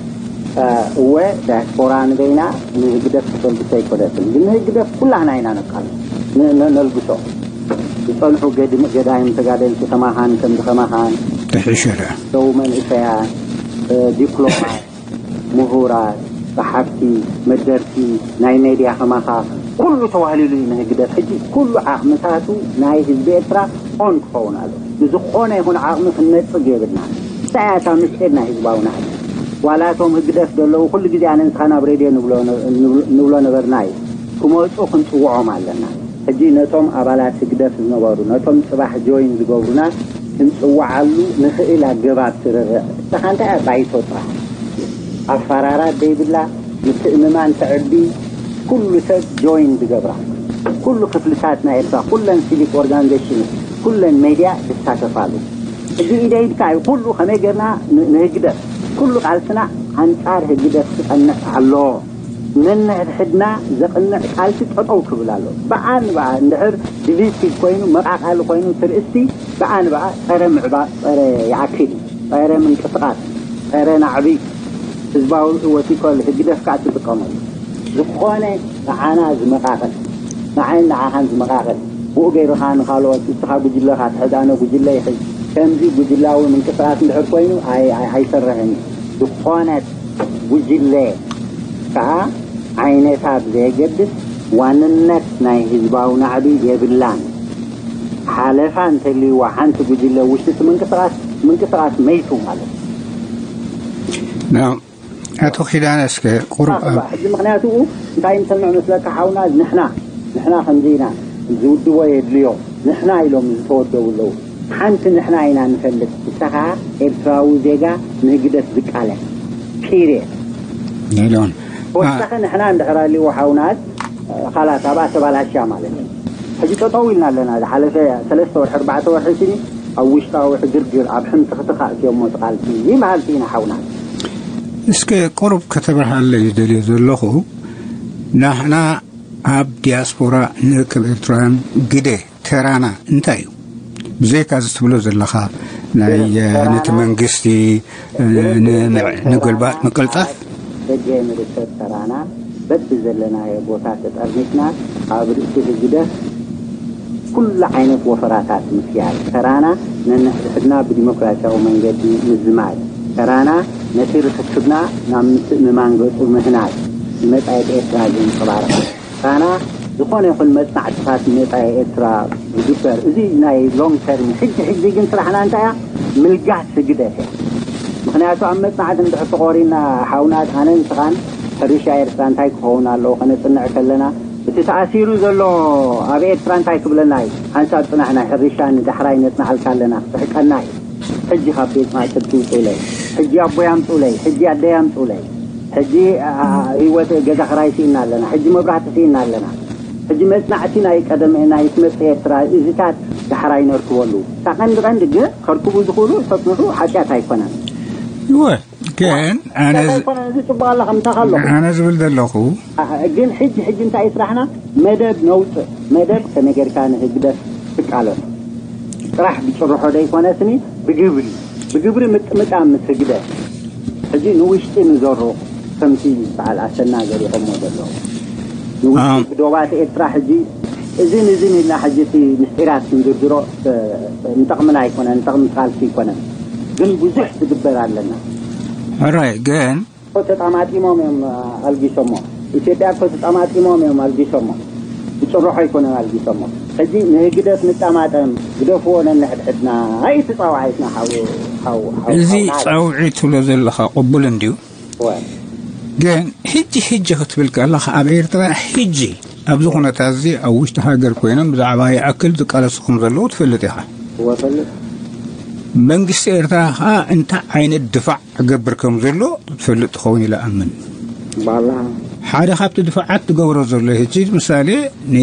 እወ ዳያስፖራ ንበይና ንህግደፍ ክተልግሶ ኣይኮነትን። ግን ንህግደፍ ኩላህና ኢና ነቃል ነልግሶ። ዝፀንሑ ገዳይም ተጋደልቲ ከማኻን ከምዚ ከማኻን ተሒሸረ ደው መንእሰያት ዲፕሎማት ምሁራት ጸሓፍቲ መደርሲ ናይ ሜድያ ከማኻ ኩሉ ተዋህሊሉ እዩ ንህግደፍ። ሕጂ ኩሉ ዓቕምታቱ ናይ ህዝቢ ኤርትራ ኦን ክኸውን ኣሎ። ንዝኾነ ይኹን ዓቕሚ ክንነጽግ የብልና። እንታይ እያ እታ ምስጢር ናይ ህዝባዊ ናዕቢ? ዋላ እቶም ህግደፍ ዘለዉ ኩሉ ግዜ ኣነ ንስኻ ናብ ሬድዮ ንብሎ ነበርና እዩ። ክመጹ ክንጽውዖም ኣለና። ሕጂ ነቶም ኣባላት ህግደፍ ዝነበሩ ነቶም ጽባሕ ጆይን ዝገብሩና ክንጽውዓሉ ንኽእል ኣገባብ ስርርዕ። ንስኻ እንታይ እያ ባይቶ ጥራሕ ኣፈራራት ዘይብላ ምትእምማን ተዕቢ ኩሉ ሰብ ጆይን ዝገብራ ኩሉ ክፍልታት ናይ ኤርትራ ኩለን ሲቪክ ኦርጋናይዜሽን ኩለን ሜድያ ዝሳተፋሉ ሕጂ ኢደ ኢድካ እዩ ኩሉ ከመይ ጌርና ንህግደፍ ኩሉ ቃልስና ኣንጻር ህግደፍ ክጸንዕ ኣለዎ። ነንሕድሕድና ዘቕንዕ ቃልሲ ጠጠው ክብል ኣሎ። ብኣ ንብኣ እንድሕር ዲቪሲቭ ኮይኑ መቓቓሊ ኮይኑ ትርእስቲ ብኣ ንብኣ ጸረ ምዕባእ ጸረ ይኣክል እዩ። ጸረ ምንቅስቓስ ጸረ ናዕቢ ህዝባዊ ወቲኮል ህግደፍ ከዓ ትጥቀመሉ ዝኾነ ንዓና ዝመቓቕል ንዓይን ንዓኻን ዝመቓቕል ብኡ ገይርኻ ንኻልኦት እስኻ ጉጅለኻ ትሕዝ ኣነ ጉጅለ ይሕዝ ከምዚ ጉጅላዊ ምንቅስቓስ እንድሕር ኮይኑ ኣይሰርሕን እዩ። ዝኾነት ጉጅለ ከዓ ዓይነታ ብዘየገድስ ዋንነት ናይ ህዝባዊ ናዕቢ የብላን። ሓለፋ እንተልይዋ ሓንቲ ጉጅለ ውሽጢ እቲ ምንቅስቓስ ምንቅስቓስ መይቱ ማለት እዩ። ኣቶ ኪዳነ እስከ ቁሩብ ኣብ ሕጂ ምክንያቱ እንታይ ንሰምዕ መስለካ ሓውና ንሕና ንሕና ከምዚ ኢና ዝውድቦ የድልዮ ንሕና ኢሎም ዝተወደቡ ኣለዉ ሓንቲ ንሕና ኢና ንፈልጥ ንሳ ከዓ ኤርትራዊ ዜጋ ንህግደፍ ዝቃለስ ፒርየድ ሎን ወሳኺ ንሕና እንድሕር ኣልዎ ሓውናት ካላት ኣብኣ ተባላሽያ ማለት እዩ ሕጂ ጠጠው ኢልና ኣለና ዝሓለፈ ሰለስተ ወርሒ ኣርባዕተ ወርሒ ሲኒ ኣብ ውሽጣዊ ዕግርግር ኣብ ሕምቲ ክትኻእ እትዮሞ ቃልሲ ይበሃል ኢና ሓውናት እስከ ቁሩብ ከተብርሃለይ ዝደልዮ ዘለኹ ናሕና ኣብ ዲያስፖራ ንርከብ ኤርትራውያን ግደ ተራና እንታይ እዩ? ብዘይካ እዚ ትብሎ ዘለኻ ናይ ነቲ መንግስቲ ንገልባጥ ምቅልጣፍ ደገ ንርከብ ተራና በቢ ዘለናዮ ቦታ ተጠርኒፍና ኣብ ርእሲ ህግደፍ ኩሉ ዓይነት ወፈራታት ምክያድ ተራና ነንሕድሕድና ብዲሞክራሲያዊ መንገዲ ምዝማድ ተራና ነቲ ርክክብና ናብ ምትእምማን ገጹ ምህናጽ ንመጻኢት ኤርትራ ዘንጸባርቕ ተራና ዝኾነ ይኹን መጽናዕትታት ንመጻኢ ኤርትራ ዝግበር እዚ ናይ ሎንግ ተርም ሕጂ ሕጂ ግን ስራሕና እንታይ እያ ምልጋስ ህግደፍ እያ ምክንያቱ ኣብ መጽናዕቲ እንድሕር ተቖሪና ሓውና ኣነ ንስኻን ሕርሻ ኤርትራ እንታይ ክኸውን ኣለዎ ከነጽንዕ ከለና እቲ ተኣሲሩ ዘሎ ኣብ ኤርትራ እንታይ ክብለና እዩ ሓንሳብ ጽናሕና ሕርሻ ንዳሕራይ ነጽናዓልካ ኣለና ክስሕቀና እዩ ሕጂ ካብ ቤት ማእሰርቲ ውፅኡለይ ሕጂ ኣቦይ ኣምፅኡለይ ሕጂ ኣደይ ኣምፅኡለይ ሕጂ ህይወት ገዛ ክራይ ስኢና ኣለና ሕጂ መብራህቲ ስኢና ኣለና ሕጂ መፅናዕቲ ናይ ቀደም ናይ ትመፅእ ኤርትራ እዚታት ዳሕራይ ነርክበሉ እታ ቀንዲ ቀንዲ ግን ከርክቡ ዝኽእሉ ተፅንሑ ሓጢኣት ኣይኮነን ይወ ግን ኣነ ኣይኮነን እዚ ፅቡቅ ኣላ ከምታኻ ኣለኹ ኣነ ዝብል ዘለኹ ግን ሕጂ ሕጂ እንታይ ስራሕና መደብ ነውፅእ መደብ ከመይ ጌርካ ንህግደፍ ትቃለሱ ጥራሕ ብጭርሖ ዘይኮነስኒ ብግብሪ ብግብሪ ምጥምጣም ምስ ህግደፍ፣ ሕጂ ንውሽጢ ንዘሩ ከምቲ በዓል ኣሰና ገሊቖሞ ዘለዉ፣ ንውሽጢ ኣም። ብዶባት ኤርትራ ሕጂ እዝን እዝን ኢልና ሕጂ እቲ ምስጢራት ክንዝርዝሮ፣ እ፣ ንጠቕምና ኣይኮነን፣ ንጠቕሚ ካልሲ ኣይኮነን። ግን ብዙሕ ዝግበር ኣለና። ሕራይ ግን እኮ ተጣማጢሞም እዮም ኣልጊሶሞ። ኢትዮጵያ እኮ ተጣማጢሞም እዮም ኣልጊሶሞ። ብጭርሖ ኣይኮነን ኣልጊሶሞ። ሕጂ ንህግደፍ ንጣማጠም፣ ግደፍዎ ነንሕድሕድና። ኣይ እቲ ጻውዓይትና ሓው፣ ሓው፣ ሓው፣ እዚ ሓው ናት። ጻውዒት ትብሎ ዘለኻ ቅቡል እንድዩ። እወ። ግን ሕጂ፣ ሕጂ ክትብል ከለኻ ኣብ ኤርትራ ሕጂ ኣብዚ ኩነታት እዚ ኣብ ውሽጢ ሃገር ኮይኖም ብዛዕባ ይኣክል ዝቃለሱ ከም ዘለዉ ትፈልጥ ኢኻ። እወ፣ እፈልጥ። መንግስቲ ኤርትራ ኸኣ እንታይ ዓይነት ድፋዕ ክገብር ከም ዘሎ ትፈልጥ ትኸውን ኢለ ኣምን። ባላ። ሓደ ካብቲ ድፋዓት ትገብሮ ዘሎ ሕጂ ምሳሌ ን-፣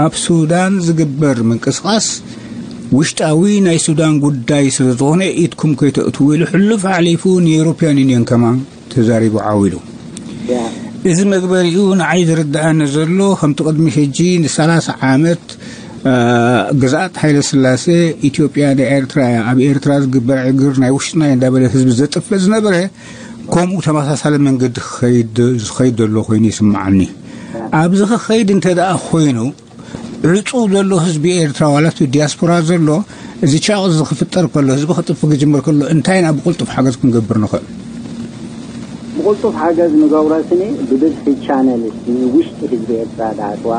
ኣብ ሱዳን ዝግበር ምንቅስቓስ ውሽጣዊ ናይ ሱዳን ጉዳይ ስለ ዝኾነ ኢድኩም ከይተእትዉ ኢሉ ሕሉፍ ኣሕሊፉ ንኤውሮፕያን ዩኒየን ከማን ተዛሪቡ ዓው ኢሉ። ያ። እዚ መግበሪኡ ንዓይ ዝርድኣኒ ዘሎ ከምቲ ቅድሚ ሕጂ ንሰላሳ ዓመት፣ እ፣ ግዝኣት ሃይለ ስላሴ ኢትዮጵያ ንኤርትራ እያ፣ ኣብ ኤርትራ ዝግበር ዕግር ናይ ውሽጥና እዩ እንዳበለ ህዝቢ ዘጥፍእ ዝነበረ ከምኡ ተመሳሳሊ መንገዲ ክኸይድ፣ ዝኸይድ ዘሎ ኮይኑ ይስምዓኒ። ኣብዚ ክኸይድ እንተ ደኣ ኮይኑ ዕጹው ዘሎ ህዝቢ ኤርትራ ዋላ እቲ ዲያስፖራ ዘሎ እዚ ቻቕስ ዝክፍጠር ከሎ ህዝቢ ክጥፍ ክጅምር ከሎ እንታይ ኢና ብቕልጡፍ ሓገዝ ክንገብር ንኽእል? ብቕልጡፍ ሓገዝ ንገብሮ ስኒ ብብዝሒ ቻነል ውሽጢ ህዝቢ ኤርትራ ዳኣትዋ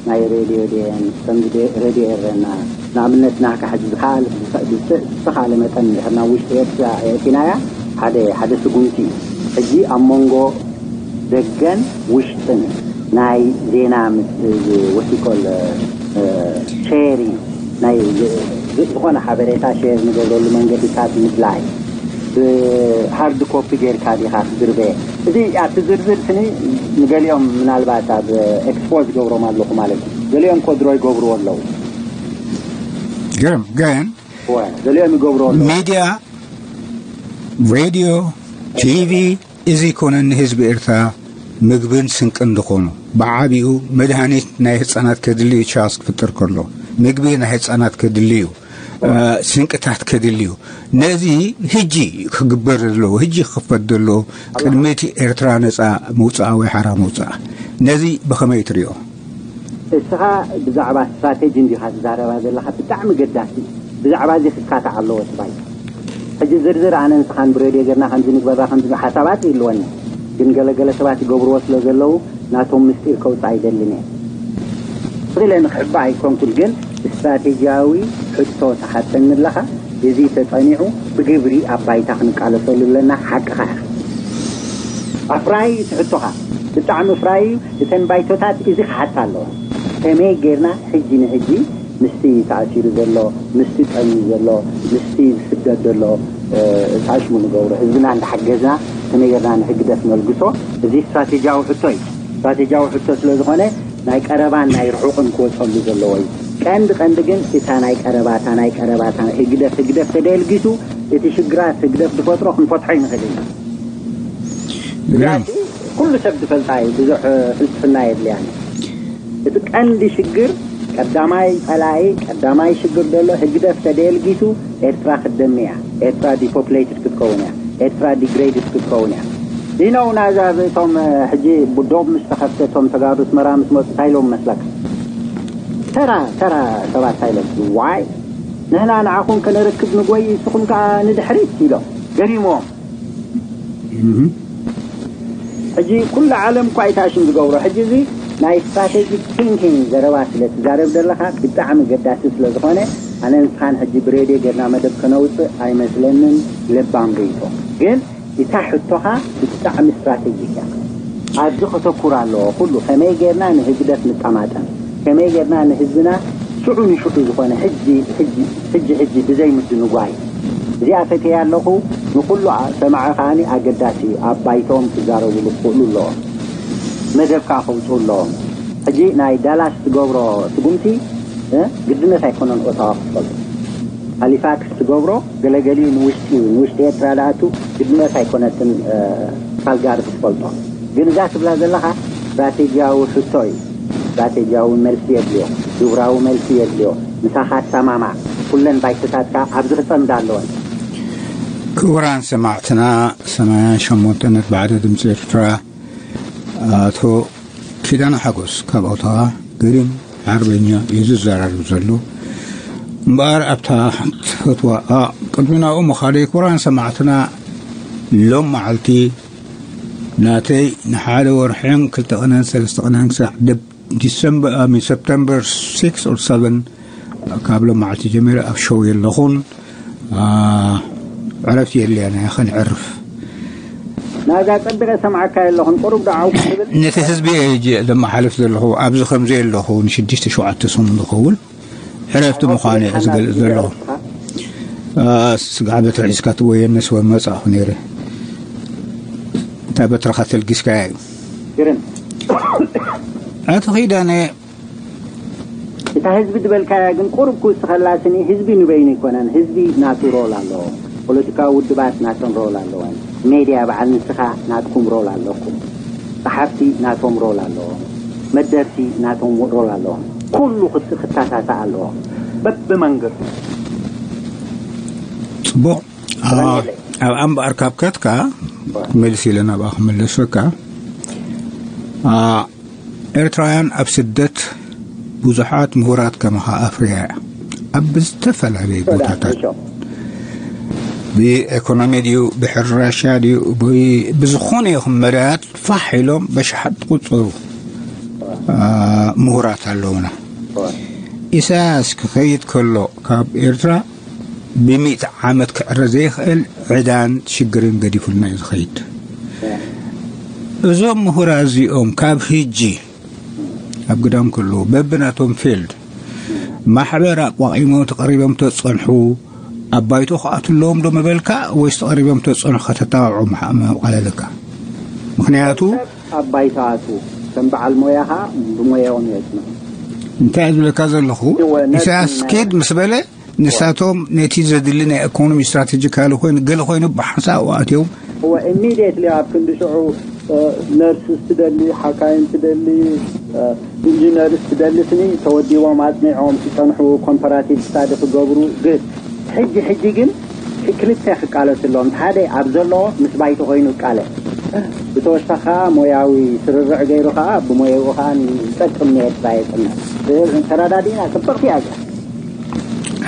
ናይ ሬድዮ ድየን ከምዚ ደ-፣ ሬድዮ ኤረና ንኣብነት ናካ ሕጂ ዝኸኣል-፣ ብዝኸ-፣ ብዝተ-፣ ብዝተኻለ መጠን እንድሕር ናብ ውሽጢ ኤርትራ የእቲናያ ሓደ፣ ሓደ ስጉምቲ እዩ። ሕጂ ኣብ መንጎ ደገን ውሽጥን ናይ ዜና ምስ-፣ እዚ ወሲኮል፣ እ፣ ሼሪንግ ናይ ዝ-፣ ዝ-፣ ዝኾነ ሓበሬታ ሼር ንገብረሉ መንገድታት ምድላይ። ብሃርድ ኮፒ ጌርካ ዲኻ ክዝርበ? እዚ ኣብቲ ዝርዝር ስኒ ንገሊኦም ምናልባት ኣብ ኤክስፖ ዝገብሮም ኣለኹ ማለት እዩ። ገሊኦም ኮድሮ ይገብርዎ ኣለዉ። ግርም ግን እወ፣ ገሊኦም ይገብርዎ ኣለዉ። ሚድያ፣ ሬድዮ፣ ቲቪ፣ እዚ ኮነ ንህዝቢ ኤርትራ ምግብን ስንቅን ዝኾኑ፣ ብዓቢኡ መድሃኒት ናይ ህጻናት ከድሊ እዩ፣ ቻስ ክፍጠር ከሎ ምግቢ ናይ ህጻናት ከድሊ እዩ፣ እ፣ ስንቅታት ከድሊ እዩ። ነዚ ህጂ ክግበር ዘለዎ፣ ህጂ ክኽፈት ዘለዎ፣ ቅድሚ እቲ ኤርትራ ነጻ ምውጻኣ ወይ ሓራ ምውጻኣ፣ ነዚ ብኸመይ ትሪኦ? እስኻ ብዛዕባ ስትራቴጂ እንዲኻ ትዛረባ ዘለኻ፣ ብጣዕሚ ገዳሲ እዩ። ብዛዕባ እዚ ክካታዕ ኣለዎ እቲ ባይቶ። ሕጂ ዝርዝር ኣነ ንስኻን ብሬድዮ ጌርና ከምዚ ንግበራ ከምዚ ሓሳባት ይህልወኒ፣ ግን ገለገለ ሰባት ይገብርዎ ስለ ዘለዉ ናቶም ምስጢር ከውፅእ ኣይደልን እየ። ኢለ ንክሕባእ ኣይኮንኩን፣ ግን ስትራቴጂያዊ ሕቶ ትሓተኒ ኣለኻ። እዚ ተጸኒዑ ብግብሪ ኣብ ባይታ ክንቃለሰሉ ኣለና። ሓቅኻ ኢኻ። ኣፍራዪ እዩ እቲ ሕቶኻ፣ ብጣዕሚ ፍራዪ እዩ። እተን ባይቶታት እዚ ክሓታ ኣለዋ። ከመይ ጌርና ሕጂ ንሕጂ ምስቲ ተኣሲሩ ዘሎ፣ ምስቲ ጠምዩ ዘሎ፣ ምስቲ ዝስደድ ዘሎ፣ እ፣ ጣሽሙ ንገብሮ? ህዝብና እንዳሓገዝና ከመይ ጌርና ንህግደፍ ነልግሶ? እዚ ስትራቴጂያዊ ሕቶ እዩ። ስትራቴጂያዊ ሕቶ ስለ ዝኾነ ናይ ቀረባን ናይ ርሑቕን ክወጸሉ ዘለዎ እዩ። ቀንዲ ቀንዲ ግን እታ ናይ ቀረባ፣ እታ ናይ ቀረባ፣ እታ ህግደፍ፣ ህግደፍ ተደልጊሱ እቲ ሽግራት ህግደፍ ዝፈጥሮ ክንፈትሖ ይንኽእል ኢና። እዚኣ ግርም። ኩሉ ሰብ ዝፈልጣ እዩ፣ ብዙሕ ፍልስፍና የድልያን። እቲ ቀንዲ ሽግር፣ ቀዳማይ ጸላኢ፣ ቀዳማይ ሽግር ዘሎ ህግደፍ ተደልጊሱ ኤርትራ ክትደሚ እያ። ኤርትራ ዲፖፕሌትድ ክትከውን እያ። ኤርትራ ዲግሬድድ ክትከውን እያ። ይነው ናዛ እቶም ሕጂ ዶብ ምስ ተኸፍተ እቶም ተጋሩ ኣስመራ ምስ መጹ እንታይ ኢሎም መስለካ? ተራ፣ ተራ ሰባት እንታይ ኢሎም? ዋይ፣ ንሕና ንዓኹም ከነረክብ ንጎይ፣ ንስኹም ከኣ ንድሕሪት ኢሎም። ገሪሞም። እህ። ሕጂ ኩሉ ዓለም እኳ ኣይተኣሽም ዝገብሮ። ሕጂ እዚ ናይ ስትራቴጂክ ቲንኪንግ ዘረባ ስለ ትዛረብ ዘለኻ ብጣዕሚ ገዳሲ ስለ ዝኾነ፣ ኣነ ንስኻን ሕጂ ብሬድዮ ጌርና መደብ ከነውፅእ ኣይመስለንን። ለባም ርእይቶ። ግን እታ ሕቶኻ ብጣዕሚ ስትራቴጂክ እያ። ኣብዚ ከተኩር ኣለዎ ኩሉ። ከመይ ጌርና ንህግደፍ ንጠማጠም? ከመይ ጌርና ንህዝብና ሽዑ ንሽዑ ዝኾነ ሕጂ፣ ሕጂ፣ ሕጂ፣ ሕጂ ብዘይ ምድንጓይ? እዚኣ ፈትየ ኣለኹ። ንኹሉ ኣ-፣ ሰማዒ ከኣኒ ኣገዳሲ እዩ። ኣብ ባይቶኦም ክዛረቡሉ ክኽእሉ ኣለዎም። መደብ ከኣ ከውፅኡ ኣለዎም። ሕጂ ናይ ዳላስ ትገብሮ ስጉምቲ፣ እ፣ ግድነት ኣይኮነን ኦታዋ ክትፈልጦ። ሃሊፋክስ ትገብሮ ገለገሊኡ ንውሽጢ፣ ንውሽጢ ኤርትራ ዝኣቱ ግድነት ኣይኮነትን፣ እ፣ ካልጋሪ ክትፈልጦ። ግን እዛ ትብላ ዘለኻ ስትራቴጂያዊ ሕቶ እዩ። ስትራቴጂያዊ መልሲ የድልዮ፣ ግብራዊ መልሲ የድልዮ። ምሳኻ ትሰማማዕ። ኩለን ባይቶታትካ ኣብዚ ክጸምዳ ኣለወን። ክቡራን ሰማዕትና፣ ሰማንያን ሸሞንተ ነጥቢ ሓደ ድምፂ ኤርትራ፣ ኣቶ ኪዳነ ሓጎስ ካብ ኦታዋ፣ ገሪም ሓርበኛ እዩ ዝዘራረብ ዘሎ። እምበኣር ኣብታ ትፈትዋ፣ ኣ፣ ቅድሚ ናብኡ ምኻደይ፣ ክቡራን ሰማዕትና፣ ሎም መዓልቲ ናተይ ንሓደ ወርሕን ክልተ ቀነን ሰለስተ ቀነን ክሳዕ ደብ-፣ ዲሰምበር፣ ኣሚ፣ ሰፕተምበር ሲክስ ኦር ሰቨን፣ ካብ ሎም መዓልቲ ጀሚረ ኣብ ሾው የለኹን። ኣ፣ ዕረፍቲ የድልየና፣ ከነዕርፍ። ናዛ ጸቢቐ ሰምዓካ የለኹን፣ ቁሩብ ዶ ዓው ክትብል? ነቲ ህዝቢ እየ ሕጂ ዘመሓልፍ ዘለኹ። ኣብዚ ከምዚ ኣለኹ፣ ንሽዱሽተ ሸውዓተ ሰሙን ዝኸውን ዕረፍቲ ምዃኑ እየ ዝገልጽ ዘለኹ። ኣ፣ ስጋዕ በትሪ ሒዝካ ትወየነስ ወመጻእኹ ነይረ። እታ በትርኻ ተልጊስካያ እዩ። ግርም። ኣቶ ኪዳነ፣ እታ ህዝቢ ዝበልካያ ግን ቁሩብ ክውስኸላ ስኒ፣ ህዝቢ ንበይኑ ኣይኮነን፣ ህዝቢ ናቱ ሮል ኣለዎ። ፖለቲካዊ ውድባት ናተን ሮል ኣለወን። ሜድያ በዓል ንስኻ ናትኩም ሮል ኣለኩም። ጸሓፍቲ ናቶም ሮል ኣለዎም። መደርሲ ናቶም ሮል ኣለዎም። ኩሉ ክት-፣ ክተሳሳእ ኣለዎ። በብመንገዱ። ጽቡቕ። ኣ፣ ኣብ ኣምባኣር ካብ ከትካ፣ መልስ ኢለ ናብኣ ክመለሰካ። ኣ፣ ኤርትራውያን ኣብ ስደት ብዙሓት ምሁራት ከማኻ ኣፍርያ እያ። ኣብ ዝተፈላለዩ ቦታታት ብኤኮኖሚ ድዩ፣ ብሕርሻ ድዩ፣ ብ-፣ ብዝኾነ ይኹን መዳያት ፋሕ ኢሎም በሽሓት ዝቑጸሩ፣ ኣ፣ ምሁራት ኣለውና። ኢሳያስ ክኸይድ ከሎ ካብ ኤርትራ ብሚእቲ ዓመት ክዕረ ዘይኽእል ዕዳን ሽግርን ገዲፉልና እዩ ዝኸይድ። እዞም ምሁራት እዚኦም ካብ ህጂ ኣብ ግዳም ከለዉ በብናቶም ፊልድ ማሕበር ኣቋቒሞም ተቐሪቦም ተጸንሑ፣ ኣብ ባይቶ ክኣቱ ኣለዎም ዶ ምበልካ ወይስ ተቐሪቦም ተጸንሑ ከተተባብዖም ምሓ-፣ ምቕለለካ? ምኽንያቱ ኣብ ባይቶ ኣቱ ከም በዓል ሞያ ኸኣ ብሞያኦም የጽንሑ። እንታይ ዝብለካ ዘለኹ፣ እወ፣ ነቲ ኢሳያስ ናይ ኪድ ምስ በለ፣ ንሳቶም ነቲ ዘድሊ ናይ ኢኮኖሚ ስትራቴጂካሊ ኮይኑ፣ ገለ ኮይኑ ብሓንሳእ ኣትዮም። እወ፣ ኢሚድየትሊ ኣብ ክንዲ ሽዑ፣ እ፣ ነርስ ትደሊ፣ ሓካይም ትደሊ፣ እ፣ ኢንጂነርስ ትደሊ ስኒ ተወዲቦም ኣጽኒዖም ክጸንሑ ኮምፓራቲቭ ስታዲ ክገብሩ። ግን ሕጂ፣ ሕጂ ግን ክልተ ክቃለስ ኣለዎም። ሓደ ኣብ ዘለዎ ምስ ባይቶ ኮይኑ ይቃለ። ብተወሳኺ ኸኣ ሞያዊ ስርርዕ ገይሩ ኸኣ ብሞያኡ ኸኣ ዝጠቅም ንኤርትራ የጽንዕ። ተረዳዲእና፣ ጽብቕቲ እያ እዚኣ።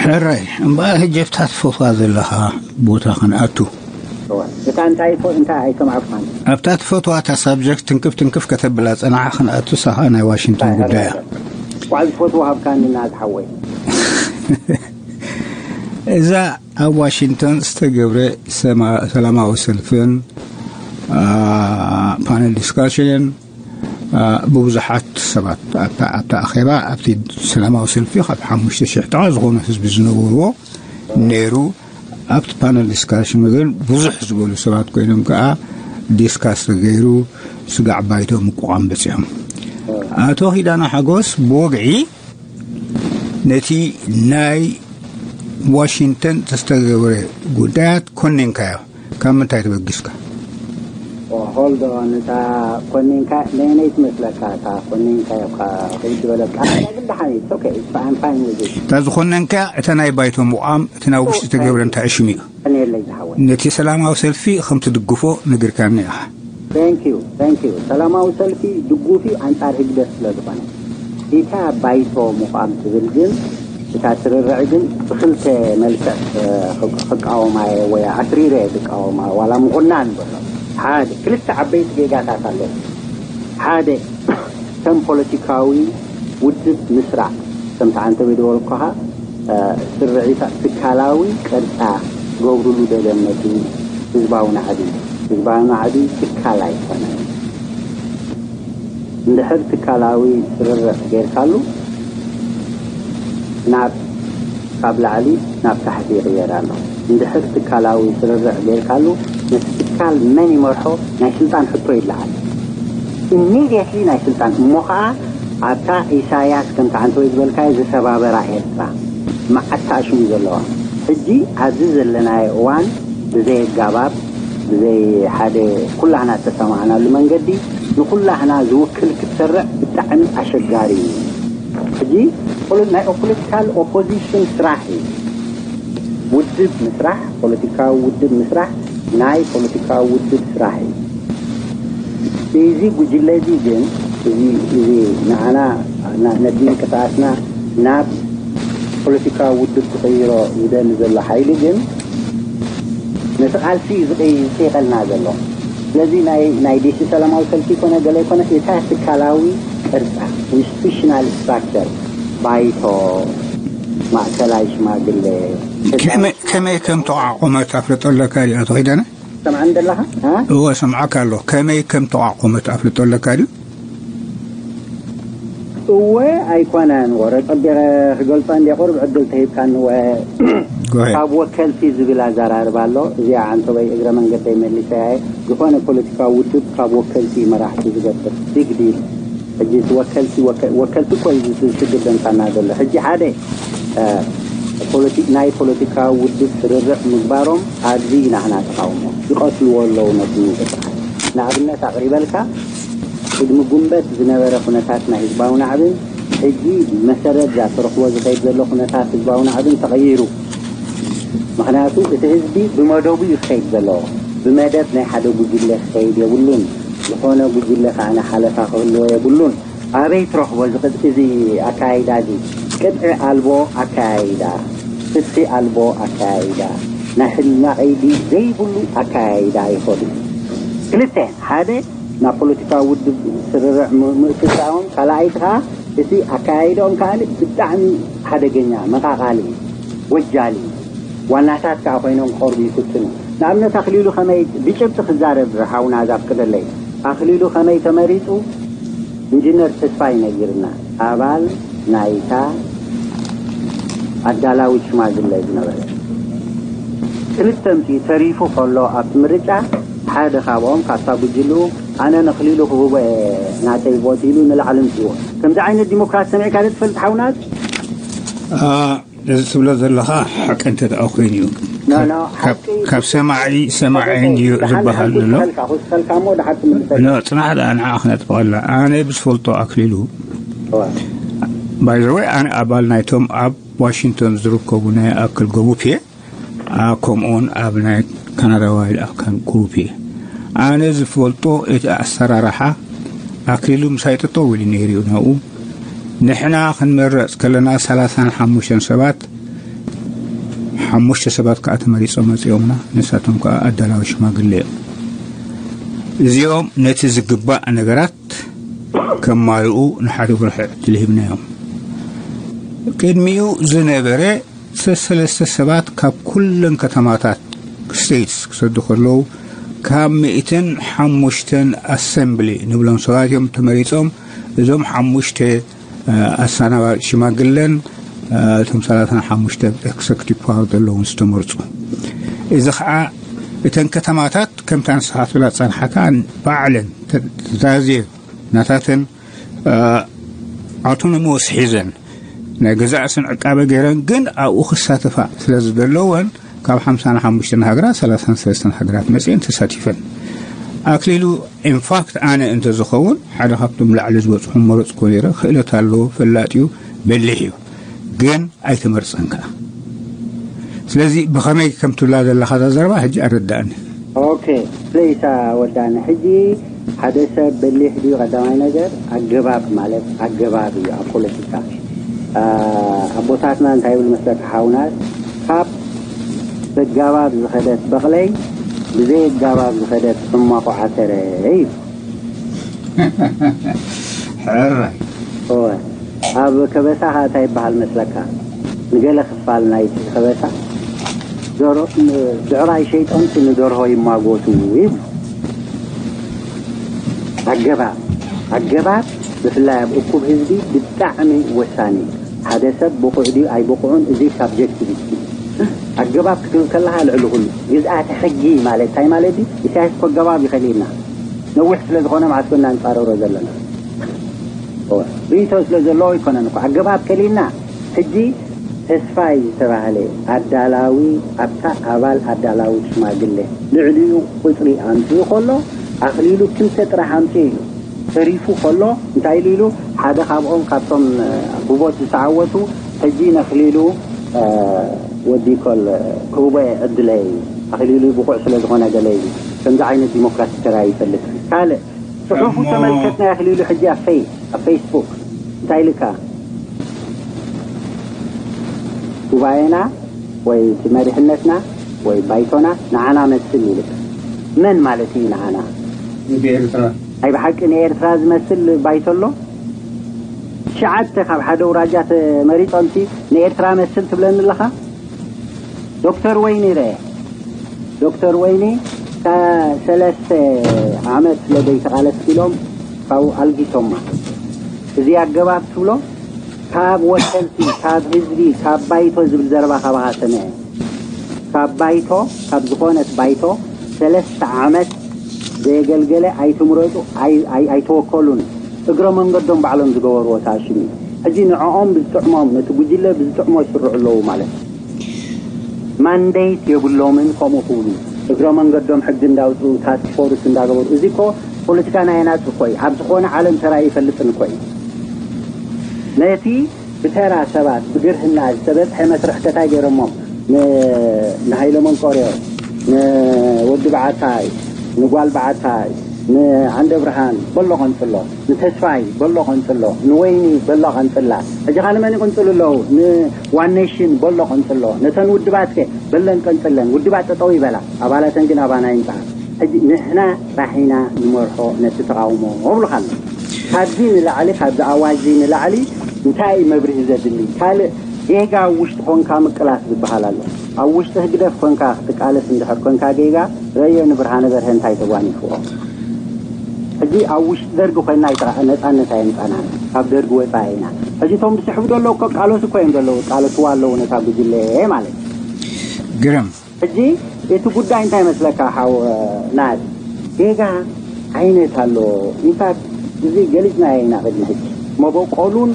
ሕራይ፣ እምበኣር ሕጂ ኣብታ ትፈትዋ ዘለኻ ቦታ ክንኣቱ። እዋ፣ እታ እንታይ ኮ-፣ እንታይ ኣይሰማዕኩኻን። ኣብታ ትፈትዋ እታ ሳብጀክት ትንክፍ ትንክፍ ከተብላ ጸናሓ ክንኣቱ ሳኻ ናይ ዋሽንግተን እንታይ ጉዳይ እያ። ሕራይ፣ ዋዕ ዝፈትዋ ሃብካኒ ናዝ ሓወይ። እዛ ኣብ ዋሽንግተን ዝተገብረ ሰማ-፣ ሰላማዊ ሰልፍን፣ ኣ፣ ፓነል ዲስካሽንን፣ ኣ፣ ብብዙሓት ሰባት ኣብታ፣ ኣብታ ኣኼባ፣ ኣብቲ ሰላማዊ ሰልፊ ካብ ሓሙሽተ ሽሕ ጥቓ ዝኾኑ ህዝቢ ዝነበርዎ ነይሩ። ኣብቲ ፓነል ዲስካሽን ግን ብዙሕ ዝበሉ ሰባት ኮይኖም ከኣ ዲስካስ ተገይሩ፣ ስጋዕ ባይቶ ምቁቋም በጺሖም። ኣቶ ኪዳነ ሓጎስ ብወግዒ ነቲ ናይ ዋሽንግተን ዝተገብረ ጉዳያት ኮኒንካዮ። ካብ ምንታይ ተበጊስካ? ኦ፣ hold on፣ እታ ኮኒንካ ነየነይ ትመስለካ? እታ ኮኒንካ ኢኻ ከይድ ዝበለካ። ግን ደሓን እዩ፣ it's okay, it's fine, I'm fine with it። እታ ዝኾነንካ፣ እታ ናይ ባይቶ ምቋም፣ እቲ ናብ ውሽጢ ተገብረ እንታይ ሽሙ እዩ? ቀንየለይ ዝሓወይ። ነቲ ሰላማዊ ሰልፊ ከም ትድግፎ ነጊርካኒ ኢኻ። Thank you, thank you። ሰላማዊ ሰልፊ ድጉፍ እዩ ኣንጻር ህግደፍ ስለ ዝኾነ። እታ ባይቶ ምቋም ትብል ግን፣ እታ ስርርዕ ግን ብክልተ መልክዕ፣ እ፣ ክቃወማ እየ ወይ ኣትሪረ እየ ዝቃወማ፣ ዋላ ምኹናን በሎ። ሓደ፣ ክልተ ዓበይቲ ጌጋታት ኣለዉ። ሓደ፣ ከም ፖለቲካዊ ውድብ ምስራዕ፣ ከምቲ ዓንተበይ ዝበልኩኻ፣ እ፣ ስርዒታ ትካላዊ ቅርጻ ገብርሉ ደገመቲ ህዝባዊ ናዕቢ። ህዝባዊ ናዕቢ ትካል ኣይኮነን። እንድሕር ትካላዊ ስርርዕ ጌርካሉ፣ ናብ፣ ካብ ላዕሊ ናብ ታሕቲ ይቕየር ኣሎ። እንድሕር ትካላዊ ስርርዕ ጌርካሉ፣ ነቲ ትካል መን ይመርሖ ናይ ስልጣን ሕቶ ይለዓል። ኢሚድየትሊ ናይ ስልጣን፣ እሞ ኸዓ ኣብታ ኢሳያስ ከምቲ ዓንተወይ ዝበልካዮ ዝሰባበራ ኤርትራ መዓት ተኣሽሙ ዘለዋ። ሕጂ ኣብዚ ዘለናዮ እዋን ብዘይ ኣጋባብ፣ ብዘይ ሓደ ኩላህና እተሰማዕናሉ መንገዲ ንኩላህና ዝውክል ክትሰርዕ ብጣዕሚ ኣሸጋሪ እዩ። ሕጂ ፖለ-፣ ናይ ፖለቲካል ኦፖዚሽን ስራሕ እዩ። ውድብ ምስራሕ፣ ፖለቲካዊ ውድብ ምስራሕ ናይ ፖለቲካዊ ውድብ ስራሕ እዩ። እዚ ጉጅለ እዚ ግን፣ እዚ፣ እዚ ንዓና፣ ና-፣ ነቲ ምንቅስቃስና ናብ ፖለቲካዊ ውድብ ክቕይሮ ዝደሊ ዘሎ ሓይሊ ግን ነቲ ቃልሲ እዩ ዝቕይ-፣ ዝቕይቐልና ዘሎ። ስለዚ ናይ፣ ናይ ዲሲ ሰላማዊ ሰልፊ ይኮነ ገለ ይኮነ፣ እታ ትካላዊ ቅርጻ፣ ኢንስቲቱሽናል ስትራክቸር፣ ባይቶ፣ ማእከላይ ሽማግለ፣ ከመይ፣ ከመይ ከም ተቋቖመት ኣፍልጦ ኣለካ ድዩ፣ ኣቶ ኪዳነ? ሰምዓኒ ዘለኻ? እ? እወ፣ ሰምዓካ ኣለኹ። ከመይ ከም ተቋቖመት ኣፍልጦ ኣለካ ድዩ? እወ፣ ኣይኮነን። ወረ ጸቢቐ ክገልጾ እንድየ፣ ቁሩብ ዕድል ተሂብካኒ። እወ፣ Go ahead. ካብ ወከልቲ ዝብል ኣዘራርባ ኣሎ። እዚኣ ዓንተበይ እግረ መንገደይ መሊሰያ እየ። ዝኾነ ፖለቲካዊ ውድብ ካብ ወከልቲ እዩ መራሕቲ ዝገብር። ቢግ ዲል። ሕጂ እቲ ወከልቲ፣ ወከ-፣ ወከልቲ እኮ እዩ እዚ ሽግር ዘምጻና ዘሎ። ሕጂ ሓደ፣ እ፣ ፖለቲ-፣ ናይ ፖለቲካዊ ውድብ ስርርዕ ምግባሮም ኣብዚ ኢና ንሕና ተቓውሞ። ይቐትልዎ ኣለዉ ነቲ ምንቅስቃስ። ንኣብነት ኣቕሪበልካ፣ ቅድሚ ጉንበት ዝነበረ ኩነታት ናይ ህዝባዊ ናዕብን ሕጂ መሰረት እዛ ተረኽቦ ዝኸይድ ዘሎ ኩነታት ህዝባዊ ናዕብን ተቐይሩ። ምኽንያቱ እቲ ህዝቢ ብመደቡ እዩ ክኸይድ ዘለዎ። ብመደብ ናይ ሓደ ጉጅለ ክኸይድ የብሉን። ዝኾነ ጉጅለ ከዓ ሓለፋ ክህልዎ የብሉን። ኣበይ ትረኽቦ እዚ ቅጥ-፣ እዚ ኣካያይዳ እዚ? ቅጥዒ ኣልቦ ኣካያይዳ፣ ፍትሒ ኣልቦ ኣካያይዳ፣ ናይ ሕልና ቀይዲ ዘይብሉ ኣካያይዳ ይኸዱ። ክልተ፣ ሓደ ናብ ፖለቲካዊ ውድብ ስርርዕ ም-፣ ምእትታዎም፣ ካልኣይቲ ከዓ እቲ ኣካያይዳኦም ከዓ ብጣዕሚ ሓደገኛ፣ መቓቓሊ፣ ወጃሊ፣ ዋናታት ከዓ ኮይኖም ክቐርቡ ይፍትኑ። ንኣብነት ኣኽሊሉ ከመይ ብጭብጢ ክዛረብ ሓውና ዛፍቅደለይ። ኣኽሊሉ ከመይ ተመሪጹ ኢንጂነር ተስፋይ ነጊርና፣ ኣባል ናይታ ኣዳላዊት ሽማግለ ዝነበረ። ክልተ ምፅኡ ተሪፉ ከሎ ኣብቲ ምርጫ ሓደ ካብኦም ካብታ ጉጅልኡ ኣነ ነኽሊሉ ክህቦ እየ ናተይ ቮት ኢሉ ንላዕሊ ምፅዎ። ከምዚ ዓይነት ዲሞክራሲ ሰሚዕካ ዶ ትፈልጥ ሓውናት? አ፣ እዚ ትብሎ ዘለኻ ሓቂ እንተ ደኣ ኮይኑ እዩ። ኖ፣ ኖ፣ ካብ፣ ሓቂ ካብ ሰማዒ፣ ሰማዒ እንድዩ ደሓን ዝበሃል ደሓን ዘሎ። ክውስኸልካ፣ ክውስኸልካ እሞ ደሓን ትምልሰልካ። ኖ፣ ጽናሕ ደኣ ንዓ ክነጥፍቐላ። ኣነ ብዝፈልጦ ኣክሊሉ። እዋ። ባይ ዘ ወይ፣ ኣነ ኣባል ናይቶም ኣብ ዋሽንግቶን ዝርከቡ ናይ ኣክል ግሩፕ እየ። አ፣ ከምኡውን ኣብ ናይ ካናዳ ዋይልድ ኣካል ግሩፕ እየ። ኣነ ዝፈልጦ እቲ ኣሰራርሓ ኣክሊሉ ምሳይ ጠጠው ኢሉ ነይሩ እዩ ናብኡ። ንሕና ክንመረጽ ከለና ሰላሳን ሓሙሽተን ሰባት፣ ሓሙሽተ ሰባት ከኣ ተመሪጾም መጺኦምና። ንሳቶም ከኣ ኣዳላዊ ሽማግለ እዮም። እዚኦም ነቲ ዝግባእ ነገራት ከማልኡ ንሓደ ወርሒ ዕድል ሂብናዮም። ቅድሚኡ ዝነበረ ሰለስተ ሰባት ካብ ኩለን ከተማታት ስቴትስ ክሰዱ ከለዉ፣ ካብ ሚእትን ሓሙሽተን ኣሰምብሊ ንብሎም ሰባት እዮም ተመሪጾም። እዞም ሓሙሽተ፣ እ፣ ኣሰናባጢ ሽማግለን፣ እ፣ እቶም ሰላሳን ሓሙሽተ ኤክሰክቲቭ ፓወር ዘለዎም ዝተመርጹ። እዚ ኸዓ እተን ከተማታት ከምታ ንስኻ ትብላ ዝጸንሓካ ባዕለን ተዛዝየ ናታተን፣ እ፣ ኣውቶኖሞስ ሒዘን ናይ ገዛእ ርእሰን ዕቃበ ገይረን ግን ኣብኡ ክሳተፋ ስለ ዝደለወን ካብ ሓምሳን ሓሙሽተን ሃገራት ሰላሳን ሰለስተን ሃገራት መጽኤን ተሳቲፈን። ኣክሊሉ ኢንፋክት ኣነ እንተዝኸውን ሓደ ካብቶም ላዕሊ ዝበጽሑ መረጽኩ ነይረ። ክእለት ኣለዎ፣ ፈላጥ እዩ፣ በሊሕ እዩ፣ ግን ኣይተመርጸን ከኣ። ስለዚ ብኸመይ ከም ትብላ ዘለኻ እዛ ዘረባ ሕጂ ኣረዳእኒ። ኦኬ፣ ፕሊስ፣ አ፣ ወዳኒ። ሕጂ ሓደ ሰብ በሊሕ ድዩ? ቀዳማይ ነገር ኣገባብ ማለት ኣገባብ እዩ ኣብ ፖለቲካ። አ፣ ኣቦታትና እንታይ ይብል መስለካ ሓውናት? ካብ በጋባብ ዝኸደት በቕለይ፣ ብዘይ ኣጋባብ ዝኸደት ሕማቑ ዓተረ እዩ። ሕራይ። እወ። ኣብ ከበሳ ኸኣ እንታይ ይበሃል መስለካ? ንገለ ክፋል ናይቲ ከበሳ፣ ደሮ-፣ ን-፣ ብዕራይ ሸይጦምሲ ንደርሆ ይማጎቱ ይብሉ። ኣገባብ፣ ኣገባብ ብፍላይ ኣብ እኩብ ህዝቢ ብጣዕሚ ወሳኒ እዩ። ሓደ ሰብ ብቑዕ ድዩ ኣይብቑዕን፣ እዚ ሳብጀክቲቪቲ እዩ። ኣገባብ ክትብል ከለኻ ልዕሊ ኩሉ ግዝኣተ ሕጊ ማለት እንታይ ማለት እዩ? ኢሳያስ እኮ ኣገባብ እዩ ከሊእና። ነዊሕ ስለ ዝኾነ መዓት ኮና ንጻረሮ ዘለና። እወ፣ ርእይቶ ስለ ዘለዎ ኣይኮነን እኮ። ኣገባብ ከሊእና። ሕጂ ተስፋይ ዝተባህለ ኣዳላዊ፣ ኣብታ ኣባል ኣዳላዊ ሽማግለ ልዕሊኡ ቁጽሪ ኣምጺኡ ከሎ፣ ኣኽሊሉ ክልተ ጥራሕ ኣምጺኡ ኢሉ። ተሪፉ ከሎ እንታይ ኢሉ ኢሉ? ሓደ ካብኦም ካብቶም፣ እ፣ ብቮት ዝተዓወቱ፣ ሕጂ ነኽሊሉ፣ እ፣ ወዲ ኮል ክህቦ እየ ዕድለይ። ኣኽሊሉ ብቑዕ ስለ ዝኾነ ገለ እዩ። ከምዚ ዓይነት ዲሞክራሲ ተራእዩ ይፈልጥ። ካልእ ጽሑፉ እሞ ተመልከትና። ኣኽሊሉ ሕጂ ኣብ ፈይ-፣ ኣብ ፌስቡክ እንታይ ኢልካ? ጉባኤና ወይ እቲ መሪሕነትና ወይ ባይቶና ንዓና መስል ይብል። መን ማለት እዩ ንዓና? ንኤርትራ። ናይ ብሓቂ ንኤርትራ ዝመስል ባይቶ ኣሎ? ትሽዓተ ካብ ሓደ ኣውራጃ ተመሪጾምሲ ንኤርትራ መስል ትብለኒ ኣለኻ? ዶክተር ወይኒ ረአ። ዶክተር ወይኒ፣ ሰለስተ ዓመት ስለ ዘይተቓለስኪ ኢሎም ካብኡ ኣልጊሶማ። እዚ ኣገባብ ትብሎ? ካብ ወከልቲ፣ ካብ ህዝቢ፣ ካብ ባይቶ ዝብል ዘረባ ካባኻ ሰምዐ። ካብ ባይቶ፣ ካብ ዝኾነት ባይቶ ሰለስተ ዓመት ዘየገልገለ ኣይትምረጡ፣ ኣይ-፣ ኣይ-፣ ኣይተወከሉን። እግረ መንገዶም ባዕሎም ዝገበርዎ ተኣሽሙ። ሕጂ ንዕኦም ብዝጥዕሞም፣ ነቲ ጉጅለ ብዝጥዕሞ ይስርዑ ኣለዉ ማለት እዩ። ማንዴት የብሎምን ከምኡ ክብሉ። እግረ መንገዶም ሕጊ እንዳውፅኡ፣ ታስክ ፎርስ እንዳገበሩ። እዚ እኮ ፖለቲካ ናይ ኣናፂ እኮ እዩ። ኣብ ዝኾነ ዓለም ተራእዩ ይፈልጥን እኮ እዩ። ነቲ ብተራ ሰባት ብግርህና ዝተበፅሐ መስርሕ ከታይ ገይሮሞ፣ ን-፣ ንሃይለ መንቆርዮ፣ ንወዲ በዓታይ፣ ንጓል በዓታይ፣ ንዓንደ ብርሃን በሎ ቀንፅሎ፣ ንተስፋይ በሎ ቀንፅሎ፣ ንወይኒ በሎ ቀንፅላ። ሕጂ ኸ ንመን ይቕንፅሉ ኣለዉ? ንዋን ኔሽን በሎ ቀንፅሎ። ነተን ውድባት ከ በለን ቀንፅለን። ውድባት ጠጠው ይበላ፣ ኣባላተን ግን ኣባና ይምፅኣ። ሕጂ ንሕና ጥራሕ ኢና ንመርሖ ነቲ ተቓውሞ እብሉኻ ኣለዉ። ካብዚ ንላዕሊ፣ ካብዚ ኣዋጅ ንላዕሊ እንታይ እዩ መብርሂ ዘድሊ? ካልእ ጌጋ ኣብ ውሽጢ ኮንካ ምቅላስ ዝበሃል ኣሎ። ኣብ ውሽጢ ህግደፍ ኮንካ ክትቃለስ እንድሕር ኮንካ ጌጋ፣ ረዮ ንብርሃነ በርሀ እንታይ ተጓኒፍዎ። ሕጂ ኣብ ውሽጢ ደርጊ ኮይንና ኣይተራ-፣ ነጻነት ኣየምጻናን። ካብ ደርጊ ወጻኢ ኢና። ሕጂ እቶም ዝስሕቡ ዘለዉ እኮ ቃለሱ እኮ እዮም ዘለዉ፣ ቃለስዋ ኣለዉ ነታ ጉጅለ ማለት እዩ። ግርም። ሕጂ እቲ ጉዳይ እንታይ መስለካ ሓው ናት? ጌጋ ዓይነት ኣሎ። ኢንፋክት እዚ ገሊጽናዮ ኢና ቅድሚ ሕጂ። መበቆሉን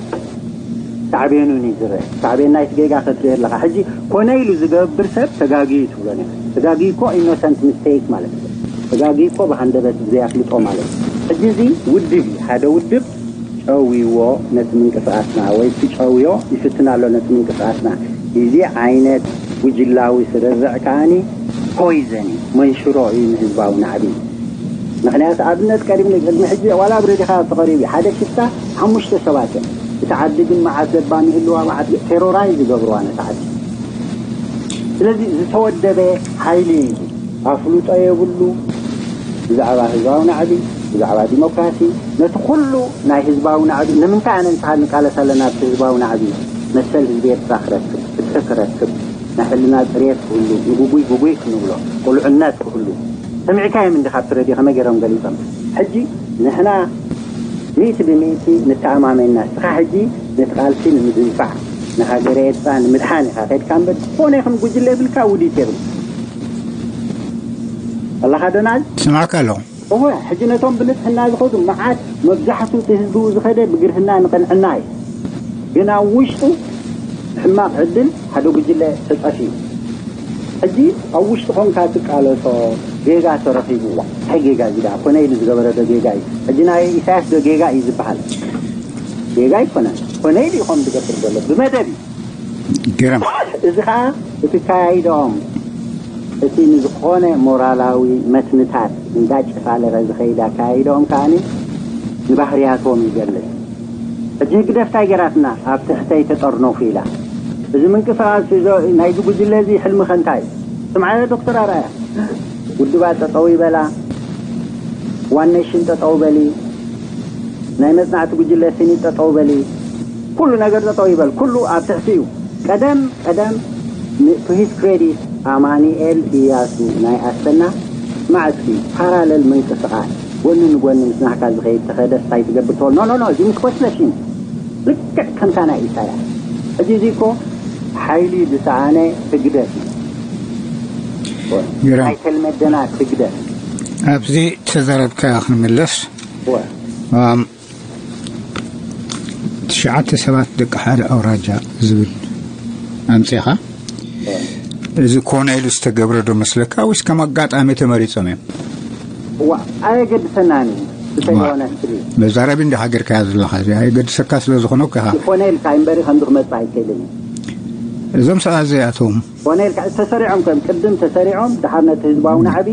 ሳዕቤኑን እዩ ዝረአ። ሳዕቤን ናይቲ ጌጋ ክትርኢ ኣለኻ። ሕጂ ኮነ ኢሉ ዝገብር ሰብ ተጋግዩ ትብሎ ነይሩ። ተጋግዩ እኮ ኢኖሰንት ሚስቴክ ማለት እዩ። ተጋግዩ እኮ ብሃንደበት ብዘይ ኣፍልጦ ማለት እዩ። ሕጂ እዚ ውድብ እዩ። ሓደ ውድብ ጨውይዎ ነቲ ምንቅስቓስና፣ ወይ ክጨውዮ ይፍትን ኣሎ ነቲ ምንቅስቓስና። እዚ ዓይነት ጉጅላዊ ስርርዕ ከኣኒ ፖይዘን እዩ፣ መንሽሮ እዩ ንህዝባዊ ናዕቢ። ምኽንያቱ ኣብነት ቀሪብኒ፣ ቅድሚ ሕጂ ዋላ ኣብ ሬዲኻ ተቐሪቡ እዩ። ሓደ ሽፍታ ሓሙሽተ ሰባት እዮም። እቲ ዓዲ ግን መዓት ለባም ይህልዋ፣ መዓት ቴሮራይዝ ይገብርዋ ነቲ ዓዲ። ስለዚ ዝተወደበ ሓይሊ እዩ። ኣፍልጦ የብሉ ብዛዕባ ህዝባዊ ናዕቢ፣ ብዛዕባ ዲሞክራሲ፣ ነቲ ኩሉ ናይ ህዝባዊ ናዕቢ። ንምንታይ ኣነ ንስኻ ንቃለስ ኣለና ኣብቲ ህዝባዊ ናዕቢ? መሰል ህዝቢ ኤርትራ ክረክብ፣ ፍትሒ ክረክብ፣ ናይ ሕልና ጽሬት ክህሉ፣ ንግጉይ ግጉይ ክንብሎ፣ ቅሉዕነት ክህሉ። ሰሚዕካዮም እንዲኻ ኣብቲ ሬድዮ ከመይ ገይሮም ገሊጾም? ሕጂ ንሕና ሚእቲ ብሚእቲ ንተኣማመን ኢና። ንስኻ ሕጂ ነቲ ቃልሲ ንምድንፋዕ፣ ንሃገረ ኤርትራ ንምድሓን ኢኻ ከድካ እምበር፣ ዝኾነ ይኹን ጉጅለ የብልካ፣ ውዲት የብል። ኣላኻ ዶናልድ? ስማዕካ ኣለኹ። እወ፣ ሕጂ ነቶም ብንጽህና ዝኸዱ መዓት፣ መብዛሕቱ እቲ ህዝቢ ዝኸደ ብግርህና ንቕንዕና እዩ። ግን ኣብ ውሽጡ ሕማቕ ዕድል ሓደ ጉጅለ ተጸፍዩ። ሕጂ ኣብ ውሽጢ ኾንካ ትቃለሶ፣ ጌጋ ተረኺብዋ። እንታይ ጌጋ እዚ ደኣ? ኮነ ኢሉ ዝገበረ ዶ ጌጋ እዩ? ሕጂ ናይ ኢሳያስ ዶ ጌጋ እዩ ዝበሃል? ጌጋ ኣይኮነን። ኮነ ኢሉ እዩ ከም ዝገብር ዘሎ። ብመደብ እዩ። ግርም። እዚ ኸኣ እቲ ካያይዶኦም፣ እቲ ንዝኾነ ሞራላዊ መትንታት እንዳጨፋለቐ ዝኸይድ ኣካያይዶኦም ከኣኒ ንባህርያቶም ይገልጽ። ሕጂ ህግደፍ እንታይ ገይራትና? ኣብ ትሕተይ ተጠርነፉ ኢላ። እዚ ምንቅስቓስ እዚ ናይዚ ጉጅለ እዚ ሕልሚ ከ እንታይ? ስምዓዮ ዶክተር ኣርኣያ፣ ውድባት ጠጠው ይበላ፣ ዋን ኔሽን ጠጠው በሊ፣ ናይ መጽናዕቲ ጉጅለ ሲኒት ጠጠው በሊ፣ ኩሉ ነገር ጠጠው ይበል፣ ኩሉ ኣብ ትሕቲ እዩ። ቀደም ቀደም ን-፣ to his credit ኣማኑኤል ኢያሱ ናይ ኣሰና መዓት እዩ ፓራለል ምንቅስቓስ ጎኒ ንጎኒ ምስ ናህካ ዝኸይድ ተኸደስ እንታይ ትገብር ትበል? ኖ፣ ኖ፣ ኖ፣ እዚ ምስ ኮስለሽን ልክዕ ከምታ ናይ ኢሳያስ። ሕጂ እዚ እኮ ሓይሊ ዝሰኣነ ህግደፍ እዩ። ግርም። ኣይተልመደና ህግደፍ። ኣብዚ ተዛረብካ ክንምለስ። እወ። ኣም፣ ትሽዓተ ሰባት ደቂ ሓደ ኣውራጃ ዝብል ኣምጺኻ። እወ። እዚ ኮነ ኢሉ ዝተገብረ ዶ መስለካ ወይስ ከም ኣጋጣሚ ተመሪጾም እዮም? እዋ፣ ኣየገድሰናን እዩ። እዋ። ብተለዋና ስትሪ። መዛረቢ እንዲኻ ጌርካያ ዘለኻ፣ እዚ ኣየገድሰካ ስለ ዝኾነ እኮ ኢኻ። ይኾነ ኢልካ እምበሪ ከምዚ ክመጽእ ኣይክእልን እዩ። እዞም ሰባት እዚኣቶም ኮነ ኢልካ ተሰሪዖም ከም ቅድም ተሰሪዖም ድሓር ነቲ ህዝባዊ ናዕቢ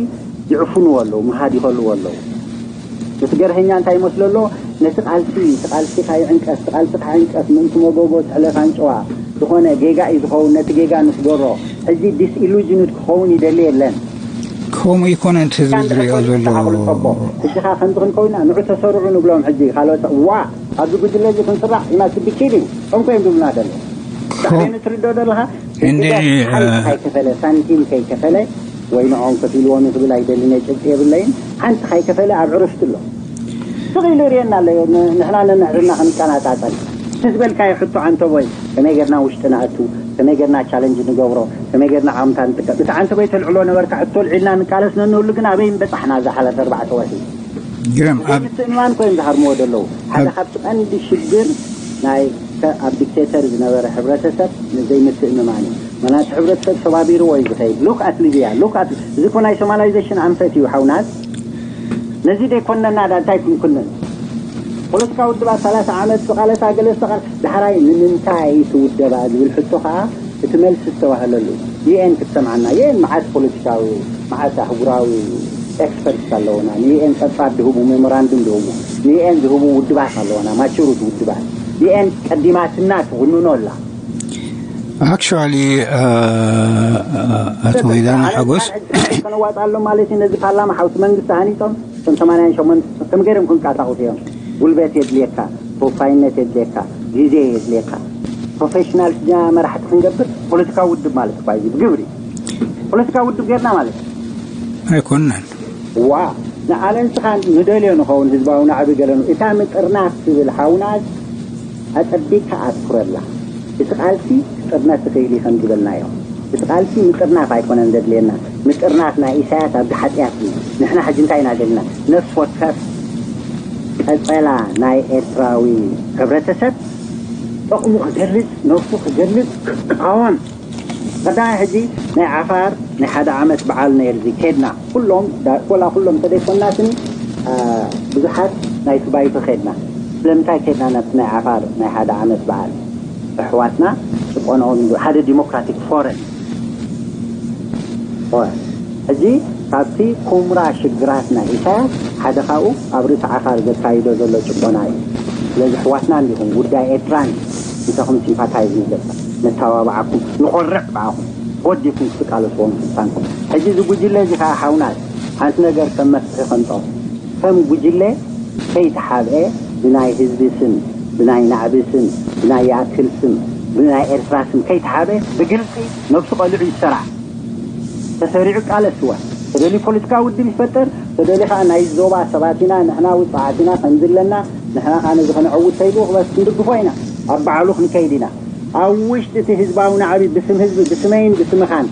ይዕፍንዎ ኣለዉ፣ ምሃድ ይኸልዎ ኣለዉ። እቲ ገርሀኛ እንታይ ይመስሎ ኣሎ? ነቲ ቃልሲ እቲ ቃልሲ ካይዕንቀፍ እቲ ቃልሲ ካይዕንቀፍ ምእንቲ መጎጎ ትሕለፍ ኣንጭዋ ዝኾነ ጌጋ እዩ ዝኸውን። ነቲ ጌጋ ንስገሮ። ሕጂ ዲስኢሉጅንድ ክኸውን ይደሊ የለን። ከምኡ ይኮነ እቲ ህዝቢ ዝሪኦ ዘሎ። ኣቕልጠቦ። ሕጂ ኸ ከምዚ ክንከውና ንዑ ተሰርዑ ንብሎም። ሕጂ ካልኦት ዋ ኣብዚ ጉጅለ እዚ ክንስራሕ ኢና ስብኪድ እዩ ከምኮ እዮም ዝብሉና ዘሎ። ዳዕሬ ንትርዶ ዘለኻ እንደ ሓንቲ ከይከፈለ ሳንቲም ከይከፈለ ወይ ንዖም ከፊልዎም ክብል ኣይደልን እየ፣ ጭብጢ የብለይን። ሓንቲ ከይከፈለ ኣብ ዕረፍቲ ኣሎ። ስቕ ኢሉ ይርእየና ኣሎ። ን- ንሕና ነንሕድና ክንቀናጣጠል እቲ ዝበልካዮ ሕቶ ዓንተቦይ፣ ከመይ ጌርና ውሽጢ ንኣቱ፣ ከመይ ጌርና ቻለንጅ ንገብሮ፣ ከመይ ጌርና ዓምታ ንጥቀም። እቲ ዓንተቦይ ተልዕሎ ነበርካ ሕቶ ልዒልና ንቃለስ ነንህሉ፣ ግን ኣበይ ምበጻሕና እዛ ሓለፈ ኣርባዕተ ወርሒ? ግርም ኣብ ዘይምትእምማን ኮይም ዝሃርምዎ ዘለዉ ሓደ ኣብ ካብቲ ቀንዲ ሽግር ናይ ከ- ኣብ ዲክቴተር ዝነበረ ሕብረተሰብ ዘይምትእምማን እዩ። ምክንያቱ ሕብረተሰብ ሰባቢርዎ እዩ ዝኸይድ። ሉክ ኣት ሊብያ ሉክ ኣት እዚ ኮ ናይ ሶማላይዜሽን ኣንፈት እዩ ሓውናት። ነዚ ደይኮነና ዳ እንታይ ክንኩንን? ፖለቲካ ውድባት ሰላሳ ዓመት ዝቓለሳ ገለ ዝተቓል ዳሕራይ ንምንታይ ትውደባ ዝብል ሕቶ ከዓ እቲ መልሲ ዝተባህለሉ ዩኤን ክትሰምዓና ዩኤን መዓት ፖለቲካዊ መዓት ኣህጉራዊ ኤክስፐርትስ ኣለውና ንዩኤን ጸብጻብ ዝህቡ ሜሞራንዱም ዝህቡ ንዩኤን ዝህቡ ውድባት ኣለውና ማቹሩት ውድባት ዩኤን ቀዲማትና ትውንኖ ኣላ። ኣክቹዋሊ ኣቶ ወይዳና ሓጎስ ከነዋፅኣሎም ማለት እዩ። ነዚ ፓርላማ ሓውሲ መንግስቲ ሃኒፆም እቶም ሰማንያን ሸሞንተ ከም ገይሮም ክንቀሳቀሱ እዮም። ጉልበት የድልየካ፣ ተወፋይነት የድልየካ፣ ግዜ የድልየካ። ፕሮፌሽናል ስጃ መራሕቲ ክንገብር ፖለቲካዊ ውድብ ማለት እኳ እዩ ብግብሪ ፖለቲካዊ ውድብ ጌርና ማለት እዩ። ኣይኮነን። ዋ ንኣነ ንስኻ ንደልዮ ንኸውን ህዝባዊ ናዕቢ ገለኑ እታ ምጥርናፍ ትብል ሓውናት ኣጸቢቕካ ኣትኩረላ። እቲ ቃልሲ ክጥርነፍ ይኽእል እዩ ከም ዝበልናዮ። እቲ ቃልሲ ምጥርናፍ ኣይኮነን ዘድልየና። ምጥርናፍ ናይ ኢሳያስ ኣብዚ ሓጢኣት እዩ። ንሕና ሕጂ እንታይ ኢና ደልና? ነፍሲ ወከፍ ቀጸላ ናይ ኤርትራዊ ሕብረተሰብ ጠቕሙ ክገልጽ፣ ነብሱ ክገልጽ፣ ክቃወም ቀዳማይ ሕጂ ናይ ዓፋር ናይ ሓደ ዓመት በዓል ነይርዚ ኬድና ኩሎም ዳ- ኮላ ኩሎም ተደይኮናትኒ አ፣ ብዙሓት ናይቲ ባይቶ ኬድና። ስለምንታይ ኬድና ናብቲ ናይ ዓፋር ናይ ሓደ ዓመት በዓል? ኣሕዋትና ጭቆንኦም ሓደ ዲሞክራቲክ ፎረም ሕጂ ካብቲ ኩምራ ሽግራት ናይ ኢሳያስ ሓደ ካብኡ ኣብ ርእሲ ዓፋር ዘካይዶ ዘሎ ጭቆና እዩ። ስለዚ ኣሕዋትና እንዲኹም ጉዳይ ኤርትራን እንተኹም ሲምፓታይዝ ንገብር ነተባብዓኩም ንኾርዕ ብዓኹም ወዲኩም ክትቃለስዎም ስልጣንኩም። ሕጂ እዚ ጉጅለ እዚ ከዓ ሓውናት ሓንቲ ነገር ከም መፍትሒ ከምጦ ከም ጉጅለ ከይተሓብአ ብናይ ህዝቢ ስም ብናይ ናዕቢ ስም ብናይ ይኣክል ስም ብናይ ኤርትራ ስም ከይተሓበ ብግልፂ ነብሱ ቀሊዑ ይሰራዕ። ተሰሪዑ ቃለስዋ ተደልዩ ፖለቲካዊ ውድብ ይፈጠር ተደልዩ ከዓ ናይ ዞባ ሰባት ኢና ንሕና ውፅዓት ኢና ከምዚ ኣለና ንሕና ከዓ ነዚ ከነዐውት ተይሉ ክበስ ክንድግፎ ኢና ኣብ በዓሉ ክንከይድ ኢና ኣብ ውሽጢ እቲ ህዝባዊ ናዕቢ ብስም ህዝቢ ብስመይን ብስምኻን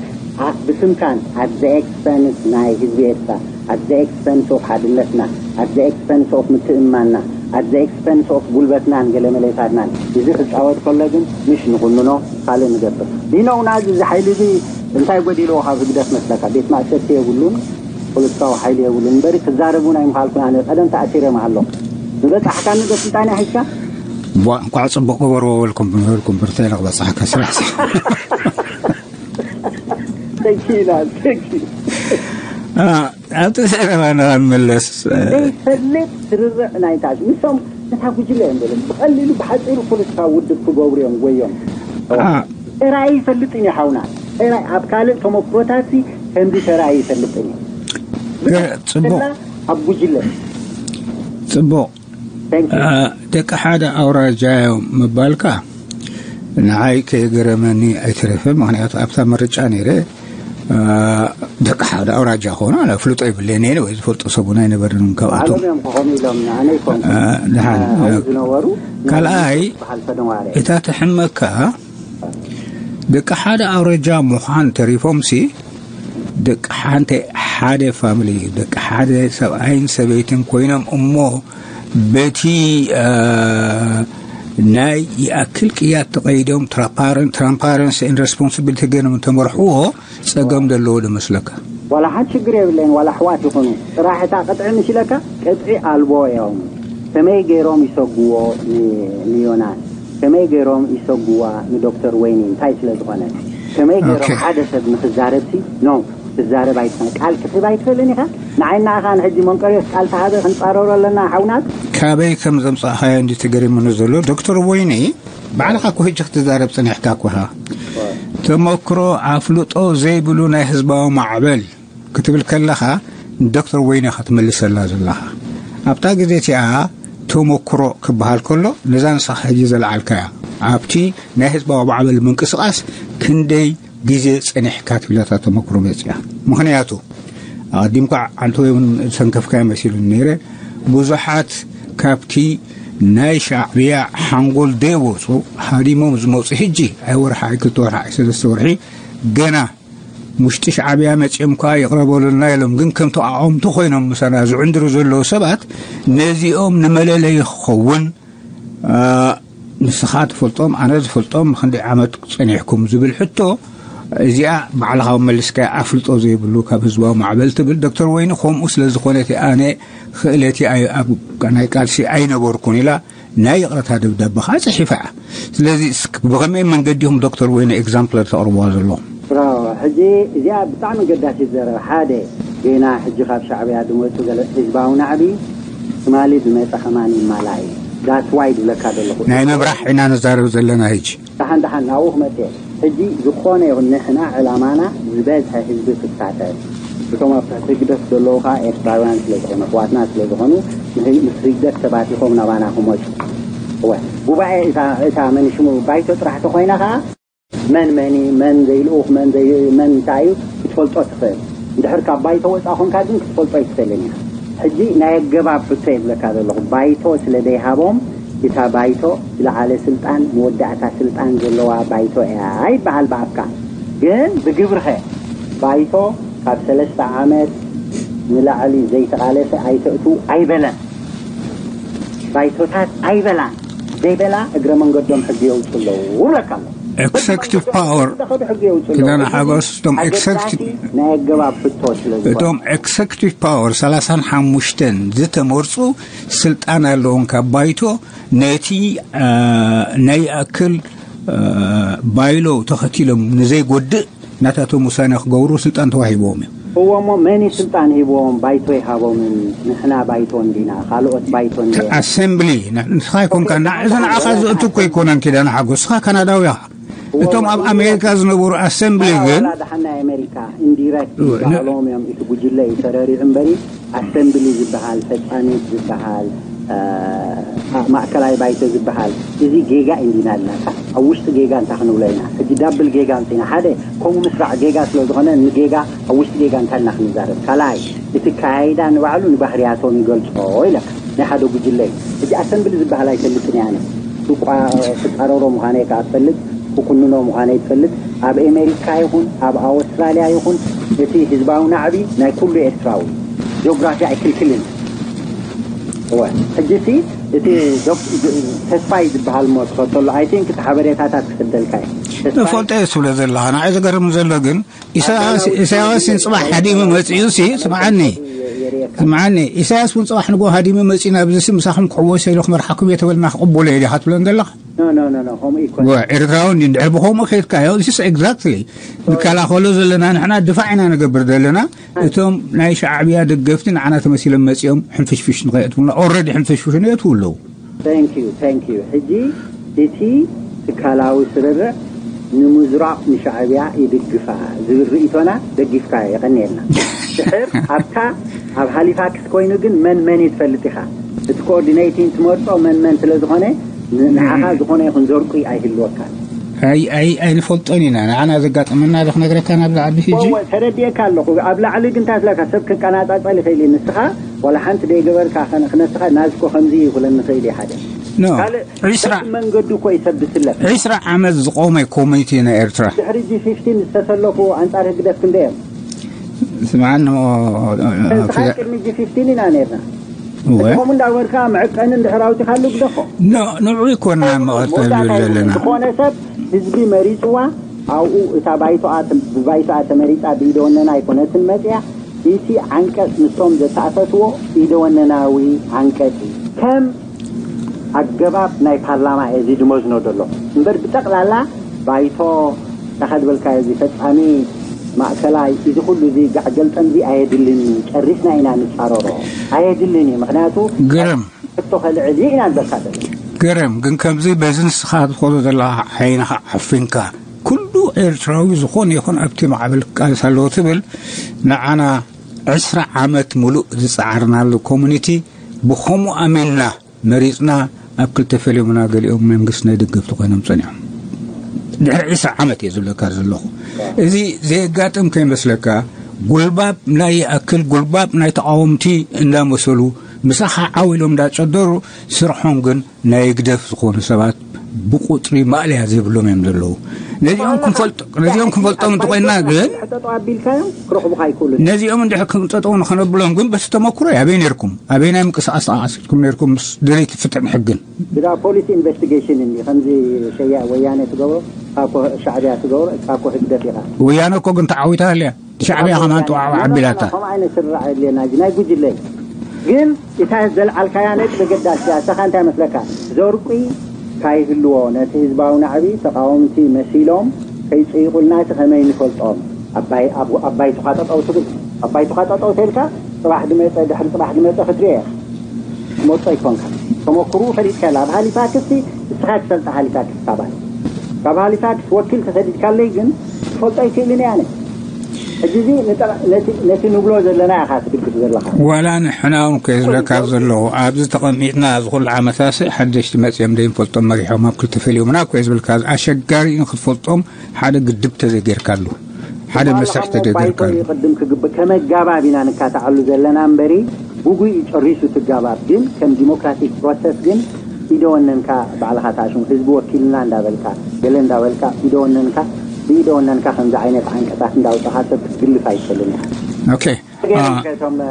ብስምካን ኣት ዘ ኤክስፐንስ ናይ ህዝቢ ኤርትራ ኣት ዘ ኤክስፐንስ ኦፍ ሓድነትና ኣት ዘ ኤክስፐንስ ኦፍ ምትእምማንና ኣት ዘ ኤክስፐንስ ኦፍ ጉልበትናን ገለ መለታትናን እዚ ክፃወት ከሎ ግን ምሽ ንኹንኖ ካልእ ንገብር ዲኖ ውናዚ እዚ ሓይሊ እዚ እንታይ ጎዲልዎ ካብ ህግደፍ መስለካ ቤት ማእሰርቲ የብሉን ፖለቲካዊ ሓይሊ የብሉን እምበሪ ክዛረብ እውን ኣይምኻልኩን ኣነ ቀደም ተኣሲረ ምሃሎ ዝበፃሕካኒ ዶ ስልጣን ሒዝካ እንኳዕ ፅቡቅ ገበርዎ በልኩም በልኩም ብርተይ ክበፅሓካ ስራሕ ተኪና ተኪ ኣብቲ ዘረባና ክንምለስ ዘይፈልጥ ስርርዕ ናይ ታሽ ንሶም ነታ ጉጅለ እዮም በሎም ብቐሊሉ ብሓፂሩ ፖለቲካዊ ውድብ ክገብሩ እዮም ጎዮም ተራይ ይፈልጥን እዩ ሓውና ተራይ ኣብ ካልእ ተመክሮታት ከምዚ ተራይ ይፈልጥን እዩ ጽቡቅ ኣብ ጉጅለ ጽቡቅ ደቂ ሓደ ኣውራጃ እዮም ምባልካ ንዓይ ከየገረመኒ ኣይተረፈ ምክንያቱ ኣብታ ምርጫ ነይረ ደቂ ሓደ ኣውራጃ ክኾኑ ኣነ ፍልጦ ይብለኒ እየ ወይ ዝፈልጦ ሰብ እውን ኣይነበርን ካብኣቶም ባዕሎም እዮም ክኾኑ ኢሎም ኣነ ይኮንኩ ድሓን ዝነበሩ ካልኣይ በሃል ፈደዋረ እታ ትሕመካ ደቂ ሓደ ኣውራጃ ምዃን ተሪፎምሲ ደቂ ሓንቲ ሓደ ፋሚሊ ደቂ ሓደ ሰብኣይን ሰበይትን ኮይኖም እሞ በቲ ናይ ይኣክል ቅያት ተቐይዶም ትራንፓረንስ ን ሬስፖንስብሊቲ ገይሮም እንተመርሕዎ ጸገም ዘለዎ ዶ መስለካ? ዋላ ሓንቲ ሽግር የብለይን ዋላ ኣሕዋት ይኹኑ ጥራሕ እታ ቅጥዒ ምስ ኢለካ ቅጥዒ ኣልቦ እዮም ከመይ ገይሮም ይሰጉዎ ንዮናስ ከመይ ገይሮም ይሰጉዋ ንዶክተር ወይኒ? እንታይ ስለ ዝኾነ? ከመይ ገይሮም ሓደ ሰብ ንክዛረብ ሲ ኖ ክዛረብ ኣይትኽእልን፣ ቃል ክትህብ ኣይትኽእልን ኢኻ። ንዓይ ንዓኻ ንሕጂ መንቀርዮስ ቃል ተሃበ ክንጻረሮ ኣለና ሓውናት። ካበይ ከም ዘምጻእኻዮ እንዲ ተገሪሙኒ ዘሎ ዶክተር ወይኒ፣ ባዕልኻ እኮ ሕጂ ክትዛረብ ጸኒሕካ እኮ ኢኻ። ተመክሮ ኣፍልጦ ዘይብሉ ናይ ህዝባዊ ማዕበል ክትብል ከለኻ ንዶክተር ወይኒ ኢኻ ትመልሰላ ዘለኻ። ኣብታ ግዜ እቲኣ ተመክሮ ክበሃል ከሎ ነዛ ንስኻ ሕጂ ዘልዓልካያ ኣብቲ ናይ ህዝባዊ ማዕበል ምንቅስቓስ ክንደይ ግዜ ጸኒሕካ ትብለታ ተመክሮ መጽያ። ምኽንያቱ ኣቐዲምካ ዓንተ ወይ እውን ዝሰንከፍካዮ መሲሉኒ ነይረ። ብዙሓት ካብቲ ናይ ሻዕብያ ሓንጎል ደይወፁ ሃዲሞም ዝመፁ ሕጂ ኣይ ወርሒ ኣይ ክልተ ወርሒ ኣይ ሰለስተ ወርሒ ገና ውሽጢ ሻዕብያ መፂኦም ከኣ ይቕረበሉና ኢሎም ግን ከምቲ ኣቐምቲ ኮይኖም ምሳና ዝዕንድሩ ዘለዉ ሰባት ነዚኦም ንመለለይ ክኸውን ንስኻ ትፈልጦም ኣነ ዝፈልጦም ንክንደይ ዓመት ጸኒሕኩም ዝብል ሕቶ እዚኣ ባዕልኻ መሊስካ ኣፍልጦ ዘይብሉ ካብ ህዝባዊ ማዕበል ትብል ዶክተር ወይኒ። ከምኡ ስለ ዝኾነ እቲ ኣነ ክእለቲ ኣብ ናይ ቃልሲ ኣይነበርኩን ኢላ ናይ ይቕረታ ደብዳበ ከዓ ጽሒፋ እያ። ስለዚ ብኸመይ መንገዲ ኢኹም ዶክተር ወይኒ ኤግዛምፕል ተቕርብዋ ዘለኹም? ሕጂ እዚኣ ብጣዕሚ ገዳሲት ዘረባ ሓደ ጌና ሕጂ ካብ ሻዕብያ ዝመፁ ገለ ህዝባዊ ናዕቢ ትማሊ ዝመፀ ከማን ይማላ እዩ። ዳትስ ዋይ ዝብለካ ዘለኹ ናይ ምብራህ ኢና ንዛረብ ዘለና ሕጂ። ደሓን ደሓን ናብኡ ክመፅእ ሕጂ ዝኾነ ይኹን ንሕና ዕላማና ዝበዝሐ ህዝቢ ክሳተፍ እቶም ኣብ ትሕቲ ህግደፍ ዘለዉ ከዓ ኤርትራውያን ስለ ዝኾኑ ኣሕዋትና ስለ ዝኾኑ ምስ ህግደፍ ተባቲኾም ናባና ክመፁ እወ ጉባኤ እታ መን ሽሙ ባይቶ ጥራሕ ተኾይና ከዓ መን መን መን ዘይልኡኽ መን መን እንታይ እዩ ክትፈልጦ ትኽእል። እንድሕር ካብ ባይቶ ወፃእ ኮንካ ግን ክትፈልጦ ኣይትኽእልን ኢኻ። ሕጂ ናይ ኣገባብ ሕቶ የብለካ ዘለኹ ባይቶ ስለ ዘይሃቦም እታ ባይቶ ዝለዓለ ስልጣን መወዳእታ ስልጣን ዘለዋ ባይቶ እያ ይበሃል ብኣፍካ። ግን ብግብርኸ ባይቶ ካብ ሰለስተ ዓመት ንላዕሊ ዘይተቓለሰ ኣይተእትዉ ኣይበለን። ባይቶታት ኣይበላን ዘይበላ እግረ መንገዶም ሕጊ የውፁ ኣለዉ እብለካ ኣሎ። ኤክሰክቲቭ ፓወር ኪዳነ ሓጎስ እቶም ኤክሰክቲቭ ናይ ኣገባብ ሕቶ ስለ ዝኾነ እቶም ኤክሰክቲቭ ፓወር ሰላሳን ሓሙሽተን ዝተመርፁ ስልጣን ኣለዎም ካብ ባይቶ ነቲ ናይ ኣክል ባይሎ ተኸቲሎም ንዘይጎድእ ናታቶም ውሳነ ክገብሩ ስልጣን ተዋሂብዎም እዩ። እዎ እሞ መን እዩ ስልጣን ሂብዎም? ባይቶ ይሃቦምን ንሕና ባይቶ እንዲና ካልኦት ባይቶ እንዲ ኣሰምብሊ ንስኻ ይኮንካ እዚ ንዓኻ ዝእቱ እኮ ይኮነን ኪዳነ ሓጎስ ንስኻ ካናዳዊ ኢኻ። እቶም ኣብ ኣሜሪካ ዝነበሩ ኣሰምብሊ ግን ደሓን ናይ ኣሜሪካ ኢንዲረክት ባዕሎም እዮም እቲ ጉጅለ እዩ ተረሪዑ እምበሪ ኣሰምብሊ ዝበሃል ፈጻሚት ዝበሃል ማእከላይ ባይቶ ዝበሃል እዚ ጌጋ እንዲና ኣለና። ኣብ ውሽጢ ጌጋ እንታይ ክንብሎ ኢና? ሕጂ ዳብል ጌጋ እንትና ሓደ ከምኡ ምስራዕ ጌጋ ስለ ዝኾነ ንጌጋ ኣብ ውሽጢ ጌጋ እንታይ እና ክንዛረብ? ካልኣይ እቲ ካይዳ ንባዕሉ ንባህርያቶም ይገልጾ ኢለ ናይ ሓደ ጉጅለ እዩ። ሕጂ ኣሰምብሊ ዝበሃል ኣይፈልጥን እያ ኣነ። ሱቋ ክጻረሮ ምዃነ ከኣ ትፈልጥ፣ ክኩንኖ ምዃነ ትፈልጥ። ኣብ ኣሜሪካ ይኹን ኣብ ኣወስትራልያ ይኹን እቲ ህዝባዊ ናዕቢ ናይ ኩሉ ኤርትራዊ ጂኦግራፊ ኣይክልክልን። እወ ሕጂ እቲ እቲ ተስፋይ ዝበሃል ሞ ትኸተሎ ኣይ ቲንክ እቲ ሓበሬታታት ክስደልካ እዩ። ንፈልጦ እየ ትብሎ ዘለኻ ንዓይ ዝገርም ዘሎ ግን ኢሳያስ ኢሳያስ ጽባሕ ሃዲሙ መጺኡ ሲ ስምዓኒ ስምዓኒ ኢሳያስ እውን ጽባሕ ንጎ ሃዲሙ መጺኡ ናብዚ ሲ ምሳኹም ክሕወስ ኢሉ ክመርሓኩም እየ ተበልና ክቕበሎ እየ ዲኻ ትብለን ዘለኻ? ኤርትራዊ እንዲ እንድሕር ብኸምኡ ከይድካዮ ዚስ ኤግዛክትሊ ንከላኸሎ ዘለና ንሕና ድፋዕ ኢና ንገብር ዘለና። እቶም ናይ ሻዕብያ ደገፍቲ ንዓና ተመሲሎም መጺኦም ሕንፍሽፍሽ ንኸየእትውና ኦረዲ ሕንፍሽፍሽ ነየትው ኣለዉ። Thank you, thank you። ሕጂ እቲ ትካላዊ ስርርዕ ንምዝራቕ ንሻዕብያ ይድግፋ ዝብል ርእይቶና ደጊፍካዮ የቐንየልና። ድሕር ኣብታ ኣብ ሃሊፋክስ ኮይኑ ግን መን መን እዩ ትፈልጥ ኢኻ። እቲ ኮኦርዲኔቲንግ ትመርጾ መን መን ስለ ዝኾነ ንዓኻ ዝኾነ ይኹን ዘርቁ ኣይህልወካን። ኣይንፈልጦን ኢና ንዓና ዘጋጠመና ዶ ክነግረካ ናብዚ ሕጂ ተረዲኤካ ኣለኹ። ኣብ ላዕሊ ግን እንታይ ስለካ ሰብ ክቀናጻጸል ይኽእል እዩ። ንስኻ ዋላ ሓንቲ ደይገበርካ ክነስኻ ናዝኮ ከምዚ ይኹለን ንኽእል እዩ ሓደ ካልእ ዒስራ መንገዱ እኮ እዩ ሰብ ዝስለፍ። ዒስራ ዓመት ዝቆመ ኮሚቴ ናይ ኤርትራ ድሕሪ ጂ ፊፍቲን ዝተሰለፉ ኣንጻር ህግደፍ ክንደይ እዮም? ስምዓኒ ቅድሚ ጂ ፊፍቲን ኢና ነርና። ከምኡ እንዳበርካ መዕቀኒ እንድሕር ኣውፂኻሉ ግደፎ። ንዑ ይኮና መቐጠል ዘለና ዝኾነ ሰብ ህዝቢ መሪፅዋ ኣብኡ እታ ባይቶኣ ብባይቶኣ ተመሪፃ ብኢደወነና ኣይኮነትን መፅያ። እቲ ዓንቀፅ ንሶም ዘተኣፈትዎ ኢደወነናዊ ዓንቀፅ እዩ። ከም ኣገባብ ናይ ፓርላማ እየ እዚ ድመዝኖ ዘሎ እምበር፣ ብጠቕላላ ባይቶ፣ ታኻ ዝበልካዮ እዚ ፈጻሚ ማእከላይ፣ እዚ ኩሉ እዚ ጋዕገልጠም እዚ ኣየድልን እዩ። ጨሪስና ኢና ንጻረሮ። ኣየድልን እዩ። ምኽንያቱ ግርም። ሕቶ ከልዕል እዩ ኢና ንበልካ ዘለና። ግርም፣ ግን ከምዚ በዚ ንስኻ ትኸዶ ዘለኻ ዓይንኻ ዓፊንካ፣ ኩሉ ኤርትራዊ ዝኾነ ይኹን ኣብቲ ማዕበል ክቃለስ ኣለዎ ትብል፣ ንዓና ዕስራ ዓመት ሙሉእ ዝጸዓርናሉ ኮሚኒቲ ብኸምኡ ኣሚንና መሪጽና ኣብ ክልተ ፈሊሙና፣ ገሊኦም መንግስቲ ናይ ደገፍቲ ኮይኖም ጸኒሖም። ድሕሪ ዕስራ ዓመት እየ ዝብለካ ዘለኹ። እዚ ዘየጋጥም ከይመስለካ፣ ጉልባብ ናይ ይኣክል ጉልባብ ናይ ተቓወምቲ እንዳመሰሉ ምሳኻ ዓው ኢሎም እንዳጨደሩ፣ ስርሖም ግን ናይ ህግደፍ ዝኾኑ ሰባት ብቁጽሪ ማእለያ ዘይብሎም እዮም ዘለዉ። ነዚኦም ክንፈልጦ-፣ ነዚኦም ክንፈልጦም እንተኾይንና ግን፣ ጠጠው ኣቢልካዮም ክረኽቡኻ ኣይክእሉን። ነዚኦም እንድሕር ክንጠጠው ንኸነብሎም ግን በቲ ተመክሮ ኣበይ ነርኩም? ኣበይ ናይ ምንቅስቃስ ተንቀሳቂስኩም ነርኩም ምስ ደለይቲ ፍትሕን ሕግን? ብዛ ፖሊስ ኢንቨስቲጌሽን እንዲ ከምዚ ሸያ ወያነ ትገብሮ፣ እካ እኮ ሻዕብያ ትገብሮ፣ እካ እኮ ህግደፍ ኢኻ። ወያነ እኮ ግን ተዓዊታ ኣልያ። ሻዕብያ ከማን ተዋዕዋ ኣቢላታ። ከምኡ ዓይነት ስርርዕ የድልየና። እዚ ናይ ጉጅለ እዩ። ግን እታ ዘልዓልካያ ነጥቢ ገዳስ እያ። እሳኻ እንታይ መስለካ? ዘርቂ ካይህልዎ ነቲ ህዝባዊ ናዕቢ ተቃወምቲ መሲሎም ከይጽይቑልና እቲ ከመይ ንፈልጦም? ኣባይ-፣ ኣብ-፣ ኣባይቱኻ ጠጠው ትብል። ኣባይቱኻ ጠጠው ተልካ ጽባሕ ድመጸ፣ ድሕሪ ጽባሕ ድመጸ ክትሪኦ ኢኻ። ትመጾ ኣይኮንካ። ተመክርኡ ፈሊጥካላ። ኣብ ሃሊፋክስ እስኻ ትፈልጣ ሃሊፋክስ ካባይ። ካብ ሃሊፋክስ ወኪል ተሰዲድካለይ ግን ትፈልጦ ኣይክእልን እየ ኣነ። ሕጂ እዚ ንጠ-፣ ነቲ፣ ነቲ ንብሎ ዘለና ኢኻ ትድግፍ ዘለኻ። ዋላ ንሕና እውን እኮ እየ ዝብለካ ዘለኹ። ኣብዚ ተቐሚጥና እዚ ኩሉ ዓመታሲ ሓደሽቲ መጺኦም ዘይንፈልጦም መሪሖም ኣብ ክልተ ፈሊዮምና እኮ እየ ዝብለካ። ኣሸጋሪ እዩ ንክትፈልጦም፣ ሓደ ግድብ ተዘይጌርካሉ፣ ሓደ ዋላ መስርሕ ካብ ተዘይጌርካሉ። ባይቶ እዩ ቅድም ክግብእ። ከመጋባብ ኢና ንካታዓሉ ዘለና እምበሪ፣ ጉጉይ እዩ ጨሪሱ ትጋባብ። ግን ከም ዲሞክራቲክ ፕሮሰስ ግን ኢደ ወነንካ ባዕልኻ ተኣሽሙ፣ ህዝቢ ወኪልና እንዳበልካ፣ ገለ እንዳበልካ፣ ኢደ ወነንካ፣ ብኢደ ወነንካ ከምዚ ዓይነት ዓንቀጻት እንዳውጻኻ ሰብ ክትግልፍ ኣይትኽእልን ኢኻ። ኦኬ። ገይሮም አ- ከቶም፣ እ፣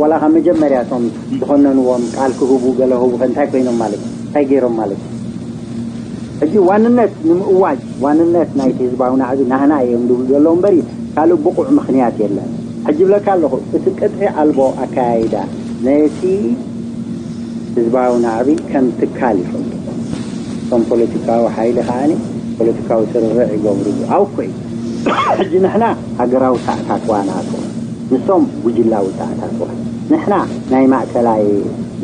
ዋላ ካብ መጀመርያ እቶም ዝኾነንዎም ቃል ክህቡ ገለ ህቡ ከ እንታይ ኮይኖም ማለት እዩ? እንታይ ገይሮም ማለት እዩ? ሕጂ ዋንነት ንምእዋጅ፣ ዋንነት ናይቲ ህዝባዊ ናዕቢ ናህና እዮም ዝብሉ ዘለዉ እምበሪ ካልእ ብቑዕ ምኽንያት የለን። ሕጂ ይብለካ ኣለኹ፣ እቲ ቅጥዒ ኣልቦ ኣከያይዳ ነቲ ህዝባዊ ናዕቢ ከም ትካል ይፈልጡ። እቶም ፖለቲካዊ ሓይሊ ከኣ ፖለቲካዊ ስርርዕ ይገብሩ። ኣው ኮይ ሕጂ ንሕና ሃገራዊ ተኣታትዋ ናቱ፣ ንሶም ጉጅላዊ ተኣታትዋ። ንሕና ናይ ማእከላይ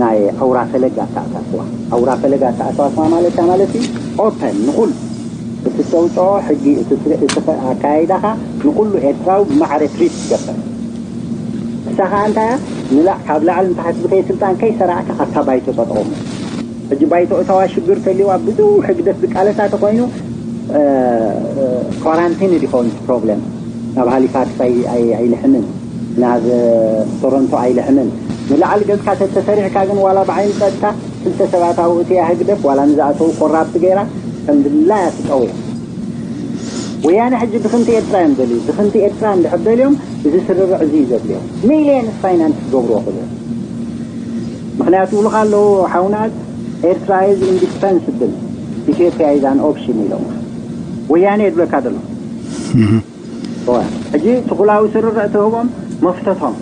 ናይ ኣውራ ፈለግ ኣተኣታትዋ። ኣውራ ፈለግ ኣተኣታትዋ ማለት እያ ማለት እዩ። ኦፐን ንኹሉ እቲ ተውፅኦ ሕጊ፣ እቲ ስር-፣ እቲ ፈ-፣ ኣካያይዳኻ ንኹሉ ኤርትራዊ ብማዕረ ትሪት ትገብር። ንሳ ኸዓ እንታይ እያ? ንላዕ-፣ ካብ ላዕሊ ንታሕቲ ዝኸይድ ስልጣን ከይሰራዕካ ኣብታ ባይቶ ጠጠው። ሕጂ ባይቶ እታዋ ሽግር ተልዋ ብዙሕ ህግደፍ ዝቃለሳ ተኾይኑ፣ እ፣ ኳራንቲን ይኸውን ፕሮብለም። ናብ ሃሊፋክስ ኣይ-፣ ኣይ-፣ ኣይልሕምን፣ ናብ፣ እ፣ ቶሮንቶ ኣይልሕምን። ንላዕሊ ገጽካ ተተሰሪዕካ ግን ዋላ ብዓይኒ ጸጥታ ክልተ ሰባት ኣብኡ እትያ ህግደፍ ዋላ ንዝኣተዉ ኮራፕት ገይራ ከም ድላያ ትጠውያ። ወያነ ሕጂ ድኽንቲ ኤርትራ እዮም ደልዩ። ድኽንቲ ኤርትራ እንድሕር ደልዮም እዚ ስርርዕ እዚ እዩ ዘድልዮም። ሚልዮንስ ፋይናንስ ክገብርዎ ክእሉ እዮም። ምኽንያቱ ይብሉኻ ኣለዉ ሓውናት፣ ኤርትራ is indispensable፣ ኢትዮጵያ is an option ኢሎም። ወያነ የድለካ ዘሎ። እዋ፣ ሕጂ ትኹላዊ ስርርዕ ትህቦም መፍተቶም።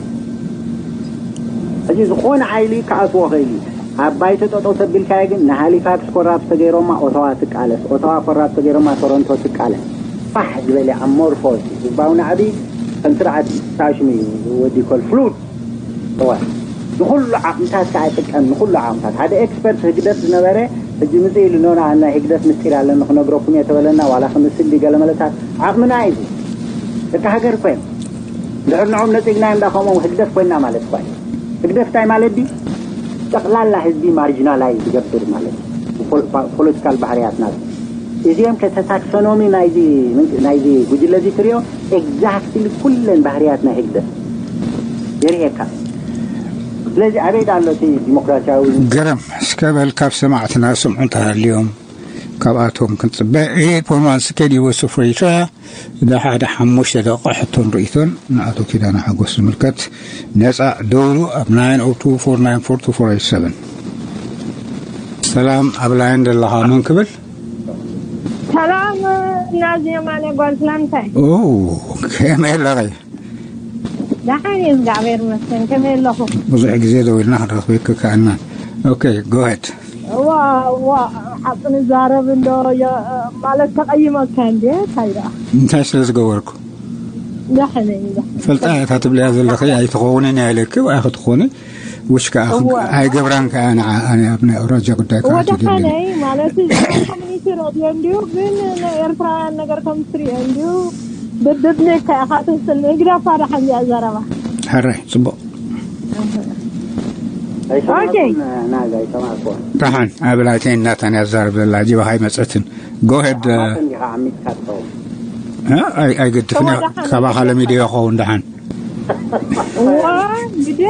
ሕጂ ዝኾነ ሓይሊ ክኣትዎ ኽእል እዩ። ኣብ ባይቶ ጠጠው ተቢልካዮ ግን ንሃሊፋክስ ኮራፕት ተገይሮማ ኦታዋ ትቃለስ፣ ኦታዋ ኮራፕት ተገይሮማ ቶሮንቶ ትቃለስ። ፋሕ ዝበለ ኣሞርፎስ ህዝባዊ ናዕቢ ከም ስርዓት ታሽሚ ወዲ ኮል ፍሉድ። እዋ፣ ንኹሉ ዓቕምታት ከዓ ይጥቀም፣ ንኹሉ ዓቕምታት። ሓደ ኤክስፐርት ህግደፍ ዝነበረ ሕጂ ምጽእ ኢሉ፣ ኖና፣ ናይ ህግደፍ ምስጢር ኣለኒ ክነግረኩም እየ ተበለና፣ ዋላ ክምስል ድዩ ገለ መለታት ዓቕምና እዩ። ደቂ ሃገር እኮ እዮም። ድሕር ንዖም ነጺግና እንዳ ከምኦም ህግደፍ ኮይና ማለት እኮ እዩ። ህግደፍ እንታይ ማለት ድዩ? ጠቕላላ ህዝቢ ማርጂናላይዝ ዝገብር ማለት እዩ። ፖል-፣ ፖ-፣ ፖለቲካል ባህርያትና እዚኦም ከ ተታክሶኖሚ ናይዚ ምንቅ-፣ ናይዚ ጉጅለ እዚ ትሪኦ ኤግዛክትሊ ኩለን ባህርያት ናይ ህግደፍ የርእየካ። ስለዚ ኣበይ ዳ ኣሎ እቲ ዲሞክራሲያዊ? ገረም እስከ በል ካብ ሰማዕትና ስምዑ እንተሃልዮም ካብኣቶም ክንጽበ። ኤ ፖማን ስኬዲ ወሱ ፍሬሻ ንሓደ ሓሙሽተ ደቂቃ ሕቶን ርእይቶን ንኣቶ ኪዳነ ሓጎስ ዝምልከት ነጻ ደውሉ ኣብ ናይን ኦ ቱ ፎር ናይን ፎር ቱ ፎር ኤት ሰቨን። ሰላም፣ ኣብ ላይን ዘለኻ መን ክብል? ሰላም፣ ናዚ የማነ ጓል ትላንታይ። ኦ፣ ከመይ ኣለኺ? ደሓን እየ፣ እግዚኣብሔር ይመስገን። ከመይ ኣለኹ? ብዙሕ ግዜ ደዊልና ክንረኽበኪ ከኣና። ኦኬ፣ ጎ ሄድ። ዋ ዋ ሓቂ ንዛረብ እንዶ የ- ማለት ተቐይመካ እንዴ እንታይ ደኣ እንታይ ስለ ዝገበርኩ ደሕነ እዩ ደሕነ። ፈልጣ እያ እታ ትብልያ ዘለኺ ኣይትኸውንን እያ ኢለኪ ወይ ክትኾኒ ውሽ ከዓ እወ። ኣይገብራን ከዓ ንዓ ኣነ ኣብ ናይ ኣውራጃ ጉዳይ ከዓ ወደ ትድልኒ ሓነይ ማለት እዚ ኮሚኒቲ ረድዮ እንዲሁ ግን ናይ ኤርትራውያን ነገር ከም ትሪኦ እንዲሁ ብድብኔካ ኢኻ ትስል ንግዳፋ ደሓን እያ ዘረባ ሕራይ ጽቡቕ ኣይሰማዕኩን ናዛ ኣይሰማዕኩን ደሓን ኣብ ላይተይ እናታን ያዛርብ ዘላ ጅባኻ ኣይመፀትን ጎሄድ እንዲኻ ዓሚፅካ ትኸውን ኣይገድፍን ካባኻ ለሚደ ይኸውን ደሓን ግዴ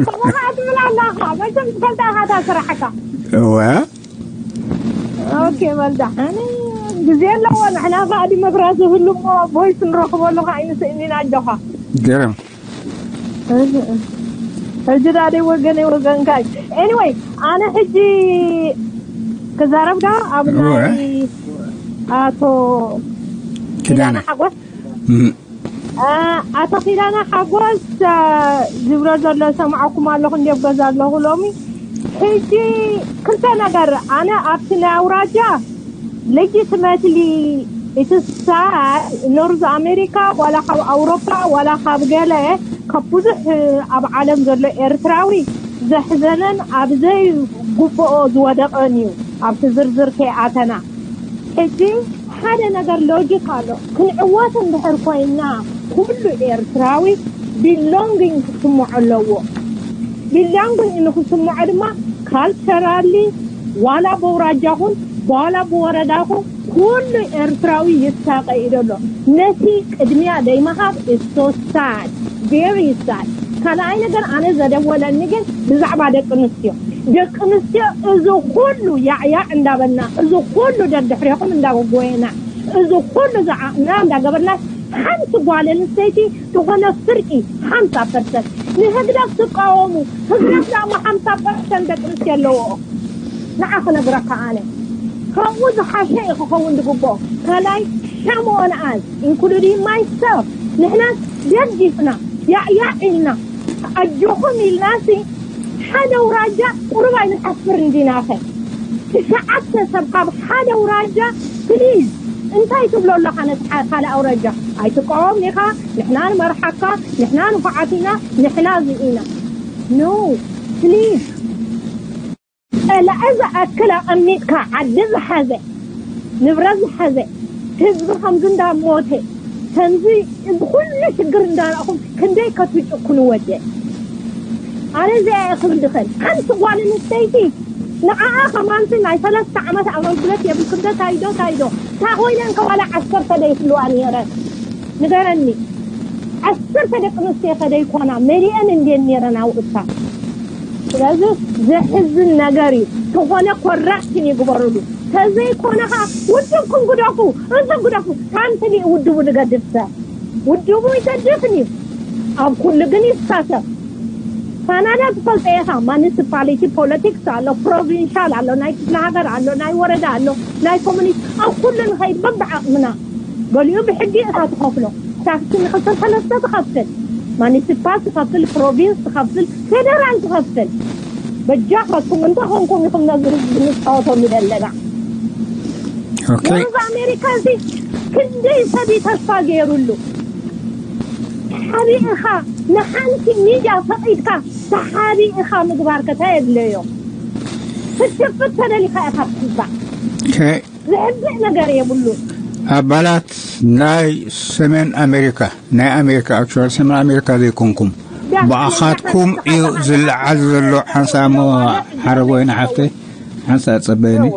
ከማኻ ትብል ኣለኻ መቸም ትፈልጣ ኢኻ እታ ስራሕካ እወ ኦኬ በል ደሓን ግዜ ኣለዎ ንሕና ከዓ ዲሞክራሲ ህሉ እሞ ቮይስ ንረኽበሉ ከዓ ኣይንስእኒን ኣጆኻ ገረም ሕጂ ዳደይ ወገነይ ወገንካ እዩ anyway ኣነ ሕጂ ክዛረብ ዳ ኣብ ናይ ኣቶ ኪዳነ ሓጎስ ኣቶ ኪዳነ ሓጎስ ዝብሎ ዘሎ ሰምዓኩም ኣለኹ እንዲብ ገዛ ኣለኹ ሎሚ ሕጂ ክልተ ነገር ኣነ ኣብቲ ናይ ኣውራጃ legitimately እቲ ሳድ ኖርዝ ኣሜሪካ ዋላ ካብ ኣውሮፓ ዋላ ካብ ገለ ካብ ብዙሕ ኣብ ዓለም ዘሎ ኤርትራዊ ዘሕዘነን ኣብ ዘይግብኦ ዝወደቐን እዩ ኣብቲ ዝርዝር ከይኣተና ሕጂ ሓደ ነገር ሎጂክ ኣሎ ክንዕወት እንድሕር ኮይና ኩሉ ኤርትራዊ ቢሎንግኝ ክስምዖ ኣለዎ ቢሎንግኝ ንክስምዖ ድማ ካልቸራሊ ዋላ በውራጃኹም ዋላ ብወረዳኹም ኩሉ ኤርትራዊ ይሳቀ እዩ ዘሎ ነቲ ቅድሚያ ደይምሃብ is so sad very sad ካልኣይ ነገር ኣነ ዘደወለኒ ግን ብዛዕባ ደቂ ኣንስትዮ ደቂ ኣንስትዮ እዚ ኩሉ ያዕያዕ እንዳበልና እዚ ኩሉ ደድሕሬኹም እንዳጎጎየና እዚ ኩሉ ዝዓቕና እንዳገበርና ሓንቲ ጓል ኣንስተይቲ ዝኾነ ፍርቂ ሓምሳ ፐርሰንት ንህግደፍ ትቃወሙ ህግደፍ ዳማ ሓምሳ ፐርሰንት ደቂ ኣንስትዮ ኣለዎ ንዓ ክነግረካ ኣነ ካብኡ ዝሓሸ እዩ ክኸውን ዝግብኦ ካልኣይ shame on us including myself ንሕና ደጊፍና ያዕያዕ ኢልና ኣጆኹም ኢልናሲ ሓደ ኣውራጃ ቁሩብ ኣይንሓፍርን ዲናኸ ትሽዓተ ሰብ ካብ ሓደ ኣውራጃ ፕሊዝ እንታይ ትብሎ ኣለኻ ነቲ ካልእ ኣውራጃ ኣይትቃወም ኢኻ ንሕና ንመርሓካ ንሕና ንፉዓት ኢና ንሕና እዚ ኢና ኖ ፕሊዝ ጸላኢ ዝኣክል ኣቐሚጥካ ዓዲ ዝሓዘ ንብረት ዝሓዘ ህዝቢ ከምዚ እንዳሞተ ከምዚ እዚ ኩሉ ሽግር እንዳረእኹም ክንደይ ከትጭክኑ ወደ ኣነ እዚኣ እየ ክብል ድኽእል ሓንቲ ጓል ኣንስተይቲ ንዓኣ ከማንቲ ናይ ሰለስተ ዓመት ኣገልግሎት የብልክን ዶ ታይዶ ታይዶ እታ ኮይነን ከዋላ ዓሰርተ ዶ ይፍልዋ ነይረን ንገረኒ ዓሰርተ ደቂ ኣንስትዮ ከደይኮና መሊአን እንድየን ነይረን ኣብኡ እታ ስለዚ ዘሕዝን ነገር እዩ ዝኾነ ኮራክሽን ይግበሩሉ ተዘይኮነ ከዓ ውድብኩም ግደፉ እዚ ግደፉ ሓንቲ ውድቡ ዝገድፍ ሰብ ውድቡ ይገድፍን እዩ ኣብ ኩሉ ግን ይሳተፍ ካናዳ ትፈልጠ ኢኻ ማኒሲፓሊቲ ፖለቲክስ ኣሎ ፕሮቪንሻል ኣሎ ናይ ክፍለ ሃገር ኣሎ ናይ ወረዳ ኣሎ ናይ ኮሚኒቲ ኣብ ኩሉ ንኸይድ በብዓቕምና ገሊኡ ብሕጊ እኻ ትኸፍሎ ታክሲ ንክልተ ሰለስተ ትኸፍል ማኒሲፓል ትኸፍል ፕሮቪንስ ትኸፍል ፌደራል ትኸፍል በጃኻትኩም እንተ ኾንኩም ኢኹም ነዚ ህዝቢ ንፃወተሉ ዘለና ኦኬ ነዚ ኣሜሪካ እዚ ክንደይ ሰብ እዩ ተስፋ ገይሩሉ ሓቢእኻ ንሓንቲ ሚድያ ፈቒድካ ተሓቢእኻ ምግባር ከታ የድለዮ ክትሽፍት ተደሊኻ ኢኻ ትሕባእ ኦኬ ዘሕዝእ ነገር የብሉን ኣባላት ናይ ሰሜን ኣሜሪካ ናይ ኣሜሪካ ኣክቹዋል ሰሜን ኣሜሪካ ዘይኮንኩም ብኣኻትኩም እዩ ዝለዓል ዘሎ ሓንሳእ እሞ ሓረግ ወይኒ ሓፍተይ ሓንሳእ ጸበየኒ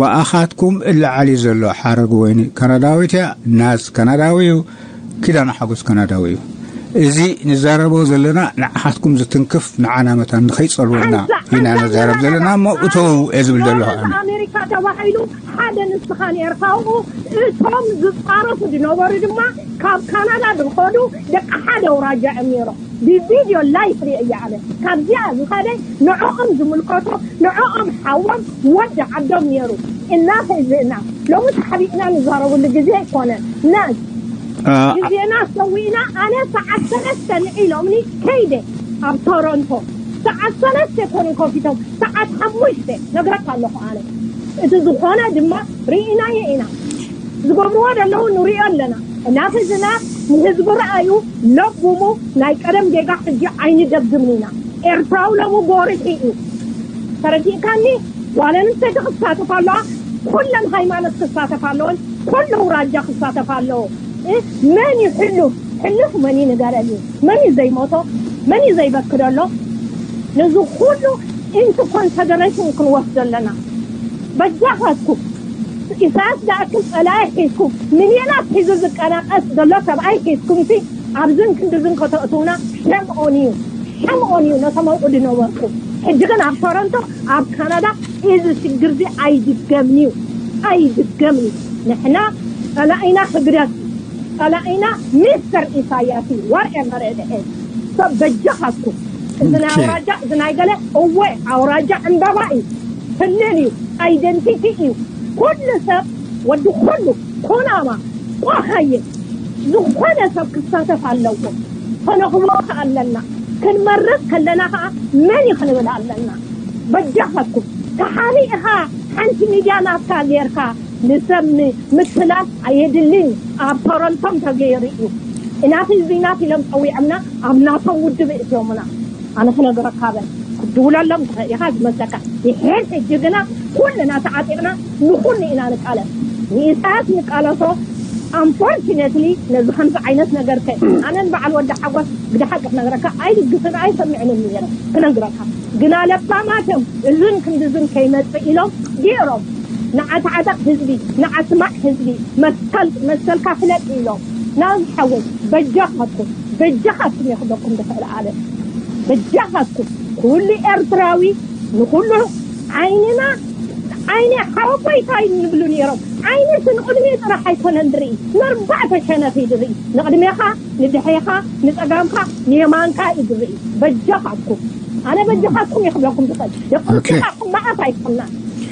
ብኣኻትኩም እለዓል እዩ ዘሎ ሓረግ ወይኒ ካናዳዊት እያ ናዝ ካናዳዊ እዩ ኪዳነ ሓጎስ ካናዳዊ እዩ እዚ ንዛረቦ ዘለና ንዓኻትኩም ዝትንክፍ ንዓና መታን ንኸይጸልወና ኢና ንዛረብ ዘለና እሞ እተው እየ ዝብል ዘለኹ ኣነ ኣሜሪካ ተባሂሉ ሓደ ንስኻ ነርካ ኣብኡ እቶም ዝፃረፉ ዝነበሩ ድማ ካብ ካናዳ ዝኸዱ ደቂ ሓደ ኣውራጃ እዮም ነይሮም ብቪድዮ ላይፍ ሪአ እየ ኣነ ካብዚኣ ዝኸደ ንዕኦም ዝምልከቶ ንዕኦም ሓዎም ወዲ ዓዶም ነይሩ እና ህዝእና ሎሚ ተሓቢእና ንዛረብሉ ግዜ ኣይኮነን ነስ ግዜና ሰዊእና ኣነ ሰዓት ሰለስተ ንዒ ኢሎምኒ ከይደ ኣብ ቶሮንቶ ሰዓት ሰለስተ ኮኑ ከፊቶም፣ ሰዓት ሓሙሽተ ነግረካ ኣለኹ ኣነ። እቲ ዝኾነ ድማ ርኢናዮ ኢና። ዝገብርዎ ዘለዉ ንሪኦ ኣለና። እናተ ዝና ንህዝቢ ረኣዩ ለቡሙ። ናይ ቀደም ጌጋ ሕጂ ኣይንደግምን ኢና። ኤርትራዊ ለቡ ጎሪሑ እዩ። ተረዲእካኒ? ጓል ኣንስተይቲ ክሳተፍ ኣለዋ። ኩለን ሃይማኖት ክሳተፍ ኣለወን። ኩሉ ኣውራጃ ክሳተፍ ኣለዎ። እ፣ መን እዩ ሕሉፍ? ሕሉፍ መን እዩ ንገረኒ? መን እዩ ዘይሞቶ? መን እዩ ዘይበክደሎ? ነዚ ኩሉ into consideration ክንወስዶ ኣለና። በጃኻትኩም፣ ኢሳያስ ዝኣክል ጸላኢ ሒዝኩም፣ ሚልዮናት ሒዙ ዝቀናቀስ ዘሎ ሰብኣይ ሒዝኩምሲ፣ ኣብዝን ክንድዝን ከተእትውና፣ ሸም ኦን እዩ። ሸም ኦን እዩ ነቶም ኣብኡ ዝነበርኩም። ሕጂ ግን ኣብ ቶሮንቶ፣ ኣብ ካናዳ፣ እዚ ሽግር እዚ ኣይድገምን እዩ። ኣይድገምን እዩ። ንሕና ጸላኢና ህግደፍ፣ ጸላኢና ሚስተር ኢሳያስ እዩ። Whatever it is። ሰብ በጃኻትኩም፣ እዚ ናይ ኦኬ። ኣውራጃ፣ እዚ ናይ ገለ፣ እወ፣ ኣውራጃ ዕምበባ እዩ። ክልል እዩ። ኣይደንቲቲ እዩ። ኩሉ ሰብ፣ ወዲ ኩሉ፣ ኩናማ፣ ቆሃየ፣ ዝኾነ ሰብ ክሳተፍ ኣለዎ። ከነኽብሮ ከኣ ኣለና። ክንመርጽ ከለና ከኣ መን እዩ ክንብል ኣለና። በጃኻትኩም፣ ተሓቢእኻ ሓንቲ ሚድያ ናትካ ጌርካ ንሰብ ም-፣ ምትላል ኣየድልን። ኣብ ቶሮንቶም ተገይሩ እዩ። ኢናፍ ኢዝ ኢናፍ ኢሎም ጸዊዖምና፣ ኣብ ናቶም ውድብ እትዮምና። ኣነ ክነግረካ በል፣ ክትድውለሎም ትኽእል ኢኻ ዝመስለካ። ይሕን ሕጂ ግና ኩልና ተዓጢቕና ንኹሉ ኢና ንቃለስ። ንኢሳያስ ንቃለሶ። Unfortunately፣ ነዚ ከምዚ ዓይነት ነገር ከ ኣነን በዓል ወዲ ሓጎስ ብድሓቂ ክነግረካ ኣይድግፍን ኣይሰምዕንን ነይረ ክነግረካ። ግና ለባማቶም እዝን ክንድዝን ከይመጽእ ኢሎም ገይሮም። ንዓ ተዓጠቕ ህዝቢ፣ ንዓ ስማዕ ህዝቢ፣ መሰል-፣ መሰልካ ፍለጥ ኢሎም። ናዚ ሓወይ፣ በጃኻትኩም፣ በጃኻትኩም እየ ክብለኩም ዝኽእል ኣነ። በጃኻትኩም፣ ኩሉ ኤርትራዊ ንኹሉ ዓይንና፣ ዓይኒ ሓወቦይታ እዩ ንብሉ ነይሮም። ዓይኒ እቲ ንቕድሚኡ ጥራሕ ኣይኮነን ዝርኢ፣ ንኣርባዕተ ሸነኽ እዩ ዝርኢ። ንቕድሜኻ፣ ንድሕሬኻ፣ ንጸጋምካ፣ ንየማንካ እዩ ዝርኢ። በጃኻትኩም፣ ኣነ በጃኻትኩም እየ ክብለኩም ዝኽእል። ኦኬ። የቕልጥኻ ክመኣት ኣይኮና።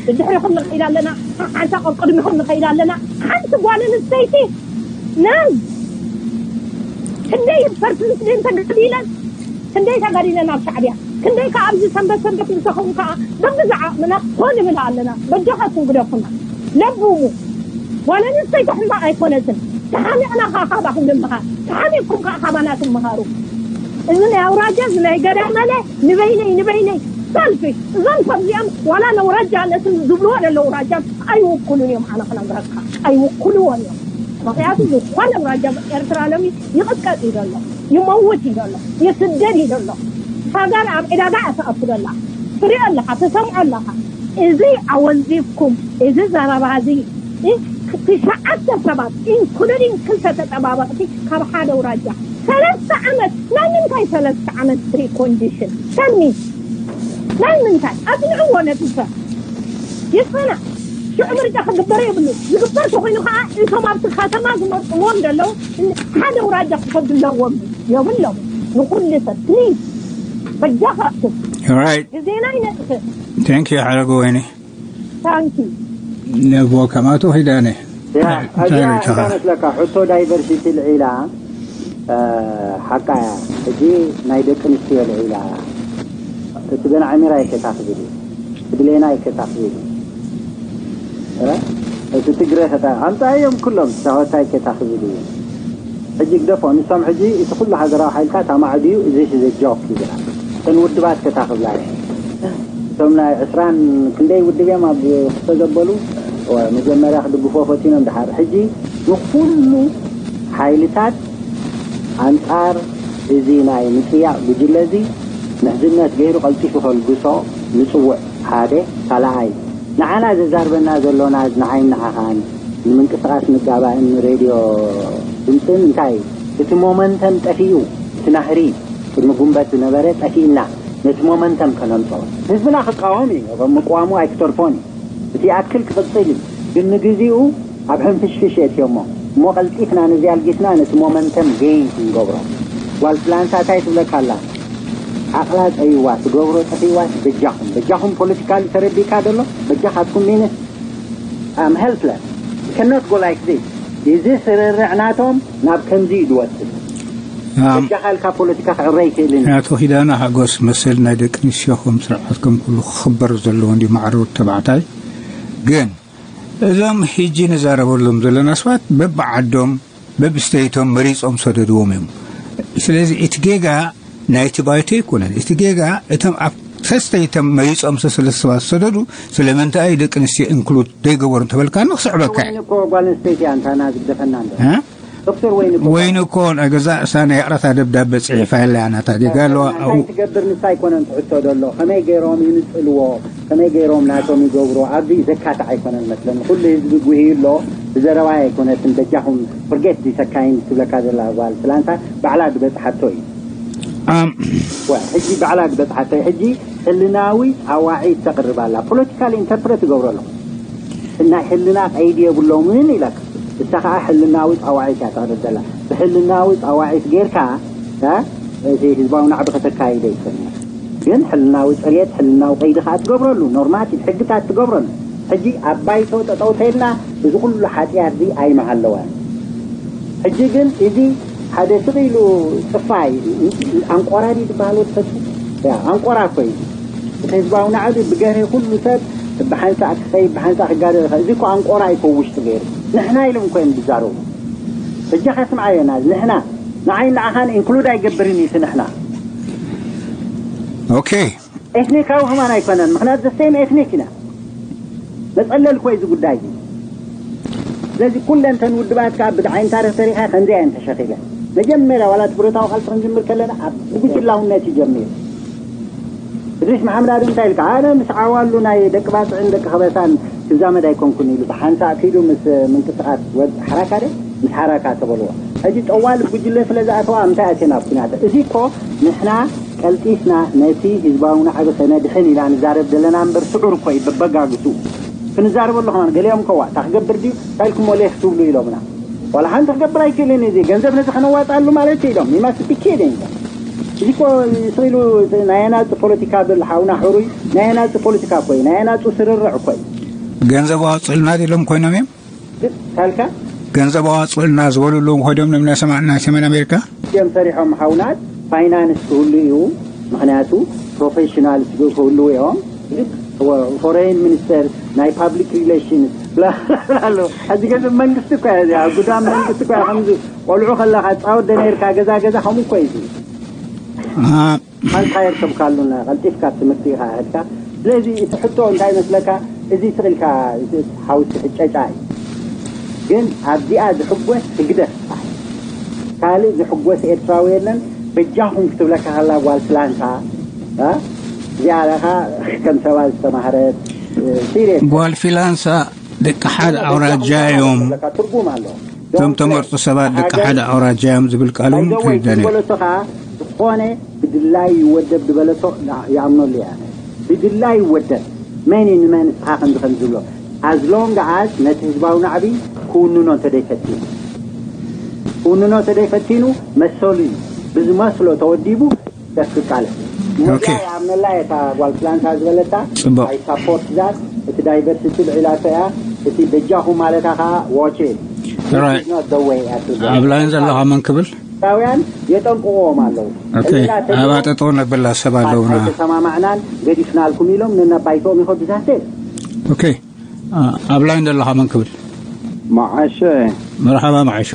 ብድሕሪኹም ንኸይድ ኣለና፣ ሓንሳእ ቅድሚኹም ንኸይድ ኣለና። ሓንቲ ጓል ኣንስተይቲ ነን ክንደይ ፐርሰንት ደን ተጋዲለን፣ ክንደይ ተጋዲለን ኣብ ሻዕብያ፣ ክንደይ ከኣ ኣብዚ ሰንበት ሰንበት ምስ ተኸውን ከኣ በብዛዕ ዓቕምና ኮን ንብል ኣለና። በጃኻትኩም ግደፉና። ለብሙ። ጓል ኣንስተይቲ ሕማቕ ኣይኮነትን። ተሓሚቕና ከኣ ካባኹም ንምሃር። ተሓሚቕኩም ከኣ ካባና ትምሃሩ። እዚ ናይ ኣውራጃ፣ እዚ ናይ ገዳመለ፣ ንበይነይ፣ ንበይነይ፣ ሰልፊሽ። እዞም ከምዚኦም ዋላ ነውራጃ ነቲ ዝብልዎ ዘለዉ ኣውራጃ ኣይውክሉን እዮም። ኣነ ክነግረካ፣ ኣይውክልዎን እዮም። ምኽንያቱ ዝኾነ ኣውራጃ ኤርትራ ሎሚ ይቕጥቀጥ እዩ ዘሎ፣ ይመውት እዩ ዘሎ፣ ይስደድ እዩ ዘሎ። ሃገር ኣብ ዕዳጋ እያ ትኣቱ ዘላ። ትሪኦ ኣለኻ፣ ትሰምዖ ኣለኻ። እዚ ኣወንዚፍኩም፣ እዚ ዘረባ እዚ፣ እ፣ ትሽዓተ ሰባት፣ ኢንክሉዲንግ ክልተ ተጠባበቕቲ፣ ካብ ሓደ ኣውራጃ። ሰለስተ ዓመት፣ ናይ ምንታይ ሰለስተ ዓመት ፕሪኮንዲሽን? ተልሚ፣ ናይ ምንታይ? ኣጽንዕዎ ነቲ ሰብ። ይጸናዕ። ሽዑ ምርጫ ክግበር የብሉ። ዝግበር ተኾይኑ ከኣ፣ እቶም ኣብቲ ከተማ ዝመርጽዎም ዘለዉ፣ ሓደ ኣውራጃ ክኸዱ ኣለዎም። የብሎም። ንኹሉ ሰብ፣ ፕሊዝ፣ በጃኻትኩም። ራይት። ግዜና ይነጥፍእ። ታንክ ዩ፣ ሓረገ ወይኒ። ታንክ ዩ። ነቦ ከማቶ ኺዳነ። ያ፣ እንታይ እዚኣ ሪኢኻ? እንታይ መስለካ? ሕቶ ዳይቨርሲቲ ልዒላ፣ እ፣ ሓቃ እያ። ሕጂ ናይ ደቂ ኣንስትዮ ልዒላ። እቲ ገና ዕሚራ ኣይከታኽብል እዩ። እቲ ብሌና ኣይከታኽብል እዩ። እ? እቲ ትግረ ከታ-፣ ኣምጻእዮም ኩሎም፣ ሳሆታይ ከታኽብል እዩ። ሕጂ ግደፎ፣ ንሶም ሕጂ እቲ ኩሉ ሃገራዊ ሓይልታት ኣማዕድዩ፣ እዚ ሲ ዘ ጆክ ይብላ። እተን ውድባት ከታኽብላ እየን። እቶም ናይ ዕስራን ክንደይ ውድብ እዮም ኣብ ክልተ ዘበሉ፣ ወ-፣ መጀመርያ ክድግፎ ፈቲኖም፣ ድሓር ሕጂ ንኹሉ ሓይልታት ኣንጻር እዚ ናይ ምጽያቕ ጉጅለ እዚ ምሕዝነት ገይሩ ቀልጢፉ ከልግሶ ንጽውዕ። ሓደ፣ ካልኣይ፣ ንዓና ዘዛርበና ዘሎ ናዝ ንዓይን ንዓኻን ንምንቅስቓስ ንጋባእን ንሬድዮ ድምፅን እንታይ እዩ? እቲ ሞመንተም ጠፊኡ፣ እቲ ናህሪ ቅድሚ ጉንበት ዝነበረ ጠፊእና፣ ነቲ ሞመንተም ከነምፅኦ። ህዝብና ክቃወም እዩ፣ ምቅዋሙ ኣይክተርፎን እዩ። እቲ ይኣክል ክቕጽል እዩ፣ ግን ንግዜኡ ኣብ ሕንፍሽፍሽ የእትዮሞ። እሞ ቀልጢፍና ነዚ ኣልጊስና ነቲ ሞመንተም ጌይን ክንገብሮ። ጓል ፍላንሳ እንታይ ትብለካ ኣላ? ዓቕላ ጸይዋ፣ ትገብሮ ጠፊዋስ፣ በጃኹም፣ በጃኹም ፖለቲካሊ ተረዲእካ ደሎ፣ በጃኻትኩም ሚንስ I'm helpless. Cannot go like this. እዚ ስርርዕ ናቶም ናብ ከምዚ እዩ ዝወስድ። በጃኻ ኢልካ ፖለቲካ ክዕረ ኣይክእልን እዩ። ኣቶ ኪዳነ ሓጎስ፣ መሰል ናይ ደቂ ኣንስትዮ ከም ስርዓት ከም ኩሉ ክኽበር ዘለዎ እንዲ ማዕረ ወዲ ተባዕታይ። ግን እዞም ሕጂ ንዛረበሎም ዘለና ሰባት በብዓዶም በብስተይቶም መሪጾም ሰደድዎም እዮም። ስለዚ እቲ ጌጋ ናይቲ ባይቶ ኣይኮነን። እቲ ጌጋ እቶም ኣብ ሰስተይቶም መሪጾም ሰለስተ ሰባት ሰደዱ፣ ስለምንታይ ደቂ ኣንስትዮ ኢንክሉድ ደይገበሩ እንተበልካ ንክስዕበካ እየ። ወይን እኮ ጓል ኣንስተይቲ እያ እንታና ዝግደፈና እንዶ። እ? ዶክተር ወይን እኮ ወይን እኮ ናይ ገዛ እሳ ናይ ይቕረታ ደብዳበ ጽሒፋ የላ እያ ናታ ጌጋ ኣለዋ። እንታይ ትገብር ንሳ ኣይኮነን ትሕቶ ዘሎ። ከመይ ገይሮም ይንጽልዎ፣ ከመይ ገይሮም ናቶም ይገብሩ፣ ኣብዚ ዘካትዕ ኣይኮነን መስለኒ። ኩሉ ህዝቢ ጉሂዩ ኣሎ፣ ብዘረባ ኣይኮነትን። በጃኹም ፍርጌት ዲሰካይን ትብለካ ዘላ ጓል ስላንታ ባዕላ ዝበጽሓቶ እዩ። ኣም። ወ-፣ ሕጂ ባዕላ ዝበጽሓቶ እዩ። ሕጂ ሕልናዊ ጻዋዒት ተቕርብ ኣላ። ፖለቲካል ኢንተርፕሬት ትገብሮ ኣለኹ። ናይ ሕልና ቀይዲ የብሎምን ኢላካ። እሳ ኸዓ ሕልናዊ ጻዋዒት እያ ተቕርብ ዘላ። ብሕልናዊ ጻዋዒት ጌርካ፣ እ፣ እቲ ህዝባዊ ናዕቢ ከተካይደ ይኽእል። ግን ሕልናዊ ጽርየት፣ ሕልናዊ ቀይዲ ኸዓ ትገብረሉ፣ ኖርማቲቭ ሕግታት ትገብረሉ። ሕጂ ኣብ ባይቶ ጠጠው ተይልና እዚ ኩሉ ሓጢኣት እዚ ኣይምሃለወን። ሕጂ ግን እዚ ሓደ ስቕ ኢሉ ጽፋይ፣ ኣንቆራ ድዩ ዝበሃል ወዲ ፈቱ? ያ፣ ኣንቆራ እኮ እዩ። እቲ ህዝባዊ ናዕቢ ብገርሂ ኩሉ ሰብ ብሓንሳእ ክኸይድ፣ ብሓንሳእ ክጋደል ይኽእል። እዚ እኮ ኣንቆራ እዩ እኮ ውሽጡ ገይሩ። ንሕና ኢሎም እኮ እዮም ዝዛረቡ። በጃኻ ስምዓዮ ናዚ፣ ንሕና። ንዓይ ንዓኻን ኢንክሉድ ኣይገብርን እዩ እቲ ንሕና። ኦኬ። ኤትኒካዊ ከማን ኣይኮነን፣ ምኽንያቱ ዘ ሴም ኤትኒክ ኢና። መጸለል እኮ እዩ እዚ ጉዳይ እዚ። ስለዚ ኩለን እተን ውድባት ከኣ ብዓይኒ ታሪኽ ተሪኻ ከምዚ እየን ተሸኺለን። መጀመርያ ዋላ እቲ ብረታዊ ቃልሲ ክንጅምር ከለና ኣብ ብጉጅላውነት እዩ ጀሚሩ። እድሪስ መሓመድ ኣደም እንታይ ኢልካ? ኣነ ምስ ዓዋሉ ናይ ደቂ ባጽዕን ደቂ ከበሳን ክዛመድ ኣይኮንኩን ኢሉ ብሓንሳእ ኪዱ ምስ ምንቅስቓስ ወድ ሓራካ ደ? ምስ ሓራካ ተበልዎ። ሕጂ ጠዋል ጉጅለ ስለ ዝኣተዋ እንታይ ኣትየን ኣብ ኩናት? እዚ እኮ ንሕና ቀልጢፍና ነቲ ህዝባዊ ናዕቢ ከነድሕን ኢና ንዛረብ ዘለና እምበር ስዑር እኮ እዩ በበጋግሱ። ክንዛረበሉ ከማን ገሊኦም ከዋ እታ ክገብር ድዩ? እንታይ ኢልኩሞ ሌፍ ትብሉ ኢሎምና። ዋላ ሓንቲ ክገብር ኣይክእልን እዩ። እዚ ገንዘብ ነዚ ከነዋጣሉ ማለት እዩ ኢሎም። ይማስ ፒኬድ እዮም። እዚ እኮ ስኢሉ ናይ ኣናጺ ፖለቲካ ብል ሓውና ሕሩይ ናይ ኣናጺ ፖለቲካ እኮ እዩ። ናይ ኣናጹ ስርርዕ እኮ እዩ። ገንዘብ ኣዋጽእልና ኢሎም ኮይኖም እዮም። ግን ካልካ ገንዘብ ኣዋጽእልና ዝበሉሉ ኮይዶም እዮም ናይ ሰማ-፣ ናይ ሰሜን ኣሜሪካ። እዮም ሰሪሖም ሓውናት ፋይናንስ ክህሉ እዩ። ምኽንያቱ ፕሮፌሽናል ክህሉ እዮም። ግን ወ-፣ ፎሬን ሚኒስተር ናይ ፓብሊክ ሪሌሽንስ ብላ ኣሎ። ሕጂ ገንዘብ መንግስቲ እኮ እያ እዚኣ። ኣብ ጉዳም መንግስቲ እኮ እያ። ከምዚ ቆልዑ ከለኻ ትጻወት ዶ ነርካ? ገዛ ገዛ ከምኡ እኮ እዩ። ኣሃ። ሓንቲ ሃየር ሰብ ካሉና ቀልጢፍካ ትምህርቲ ኢኻ ሄድካ። ስለዚ እቲ ሕቶ እንታይ መስለካ? እዚ ስቕ ኢልካ እቲ ሓውሲ ሕጨጫ እዩ። ግን ኣብዚኣ ዝሕጎስ ህግደፍ ጥራሕ እዩ። ካልእ ዝሕጎስ ኤርትራዊ የለን። በጃኹም ክትብለካ ከላ ጓል ፍላንሳ፣ እ? እዚኣ ለኻ ከም ሰባ ዝተማህረት፣ እ፣ ሲሪየስ። ጓል ፊላንሳ ደቂ ሓደ ኣውራጃ እዮም። ትብለካ ትርጉም ኣሎ። እቶም ተመርጡ ሰባት ደቂ ሓደ ኣውራጃ እዮም ዝብል ቃል እውን ኣይዘወይ ትርዳን እዩ። ዝበለቶ ኸዓ ዝኾነ ብድላይ ይወደብ ዝበለቶ ይኣምነሉ እያ። ብድላይ ይወደብ መን እዩ ንመን ንስኻ ከምዚ ከም ዝብሎ። As long as ነቲ ህዝባዊ ናዕቢ ክውንኖ እንተደይፈቲኑ፣ ክውንኖ እንተደይፈቲኑ መሰሉ እዩ። ብዝመስሎ ተወዲቡ ደስ ክቃለስ። ኦኬ። ወላ ይኣምነላ እታ ጓል ፍላንሳ ዝበለታ ጽቡቕ። ኣይ ሳፖርት ዛት። እቲ ዳይቨርሲቲ ልዒላቶ እያ። እቲ በጃኹም ማለታ ኸዓ ዋች ኢት። ራይት። This is not the way at all። ኣብ ላይን ዘለኻ መን ክብል? ኤርትራውያን የጠንቅቕዎም ኣለዉ። ኦኬ። ሕልና ተሪፎም ኣባ ጠጠው ነብላ ሰብ ኣለውና። ኣይተሰማማዕናን ገዲፍናልኩም ኢሎም ነናብ ባይቶኦም ይኸዱ ዛት። ኦኬ። ኣ-፣ ኣብ ላይን ዘለኻ መን ክብል? መዓሸ። መርሓባ መዓሾ።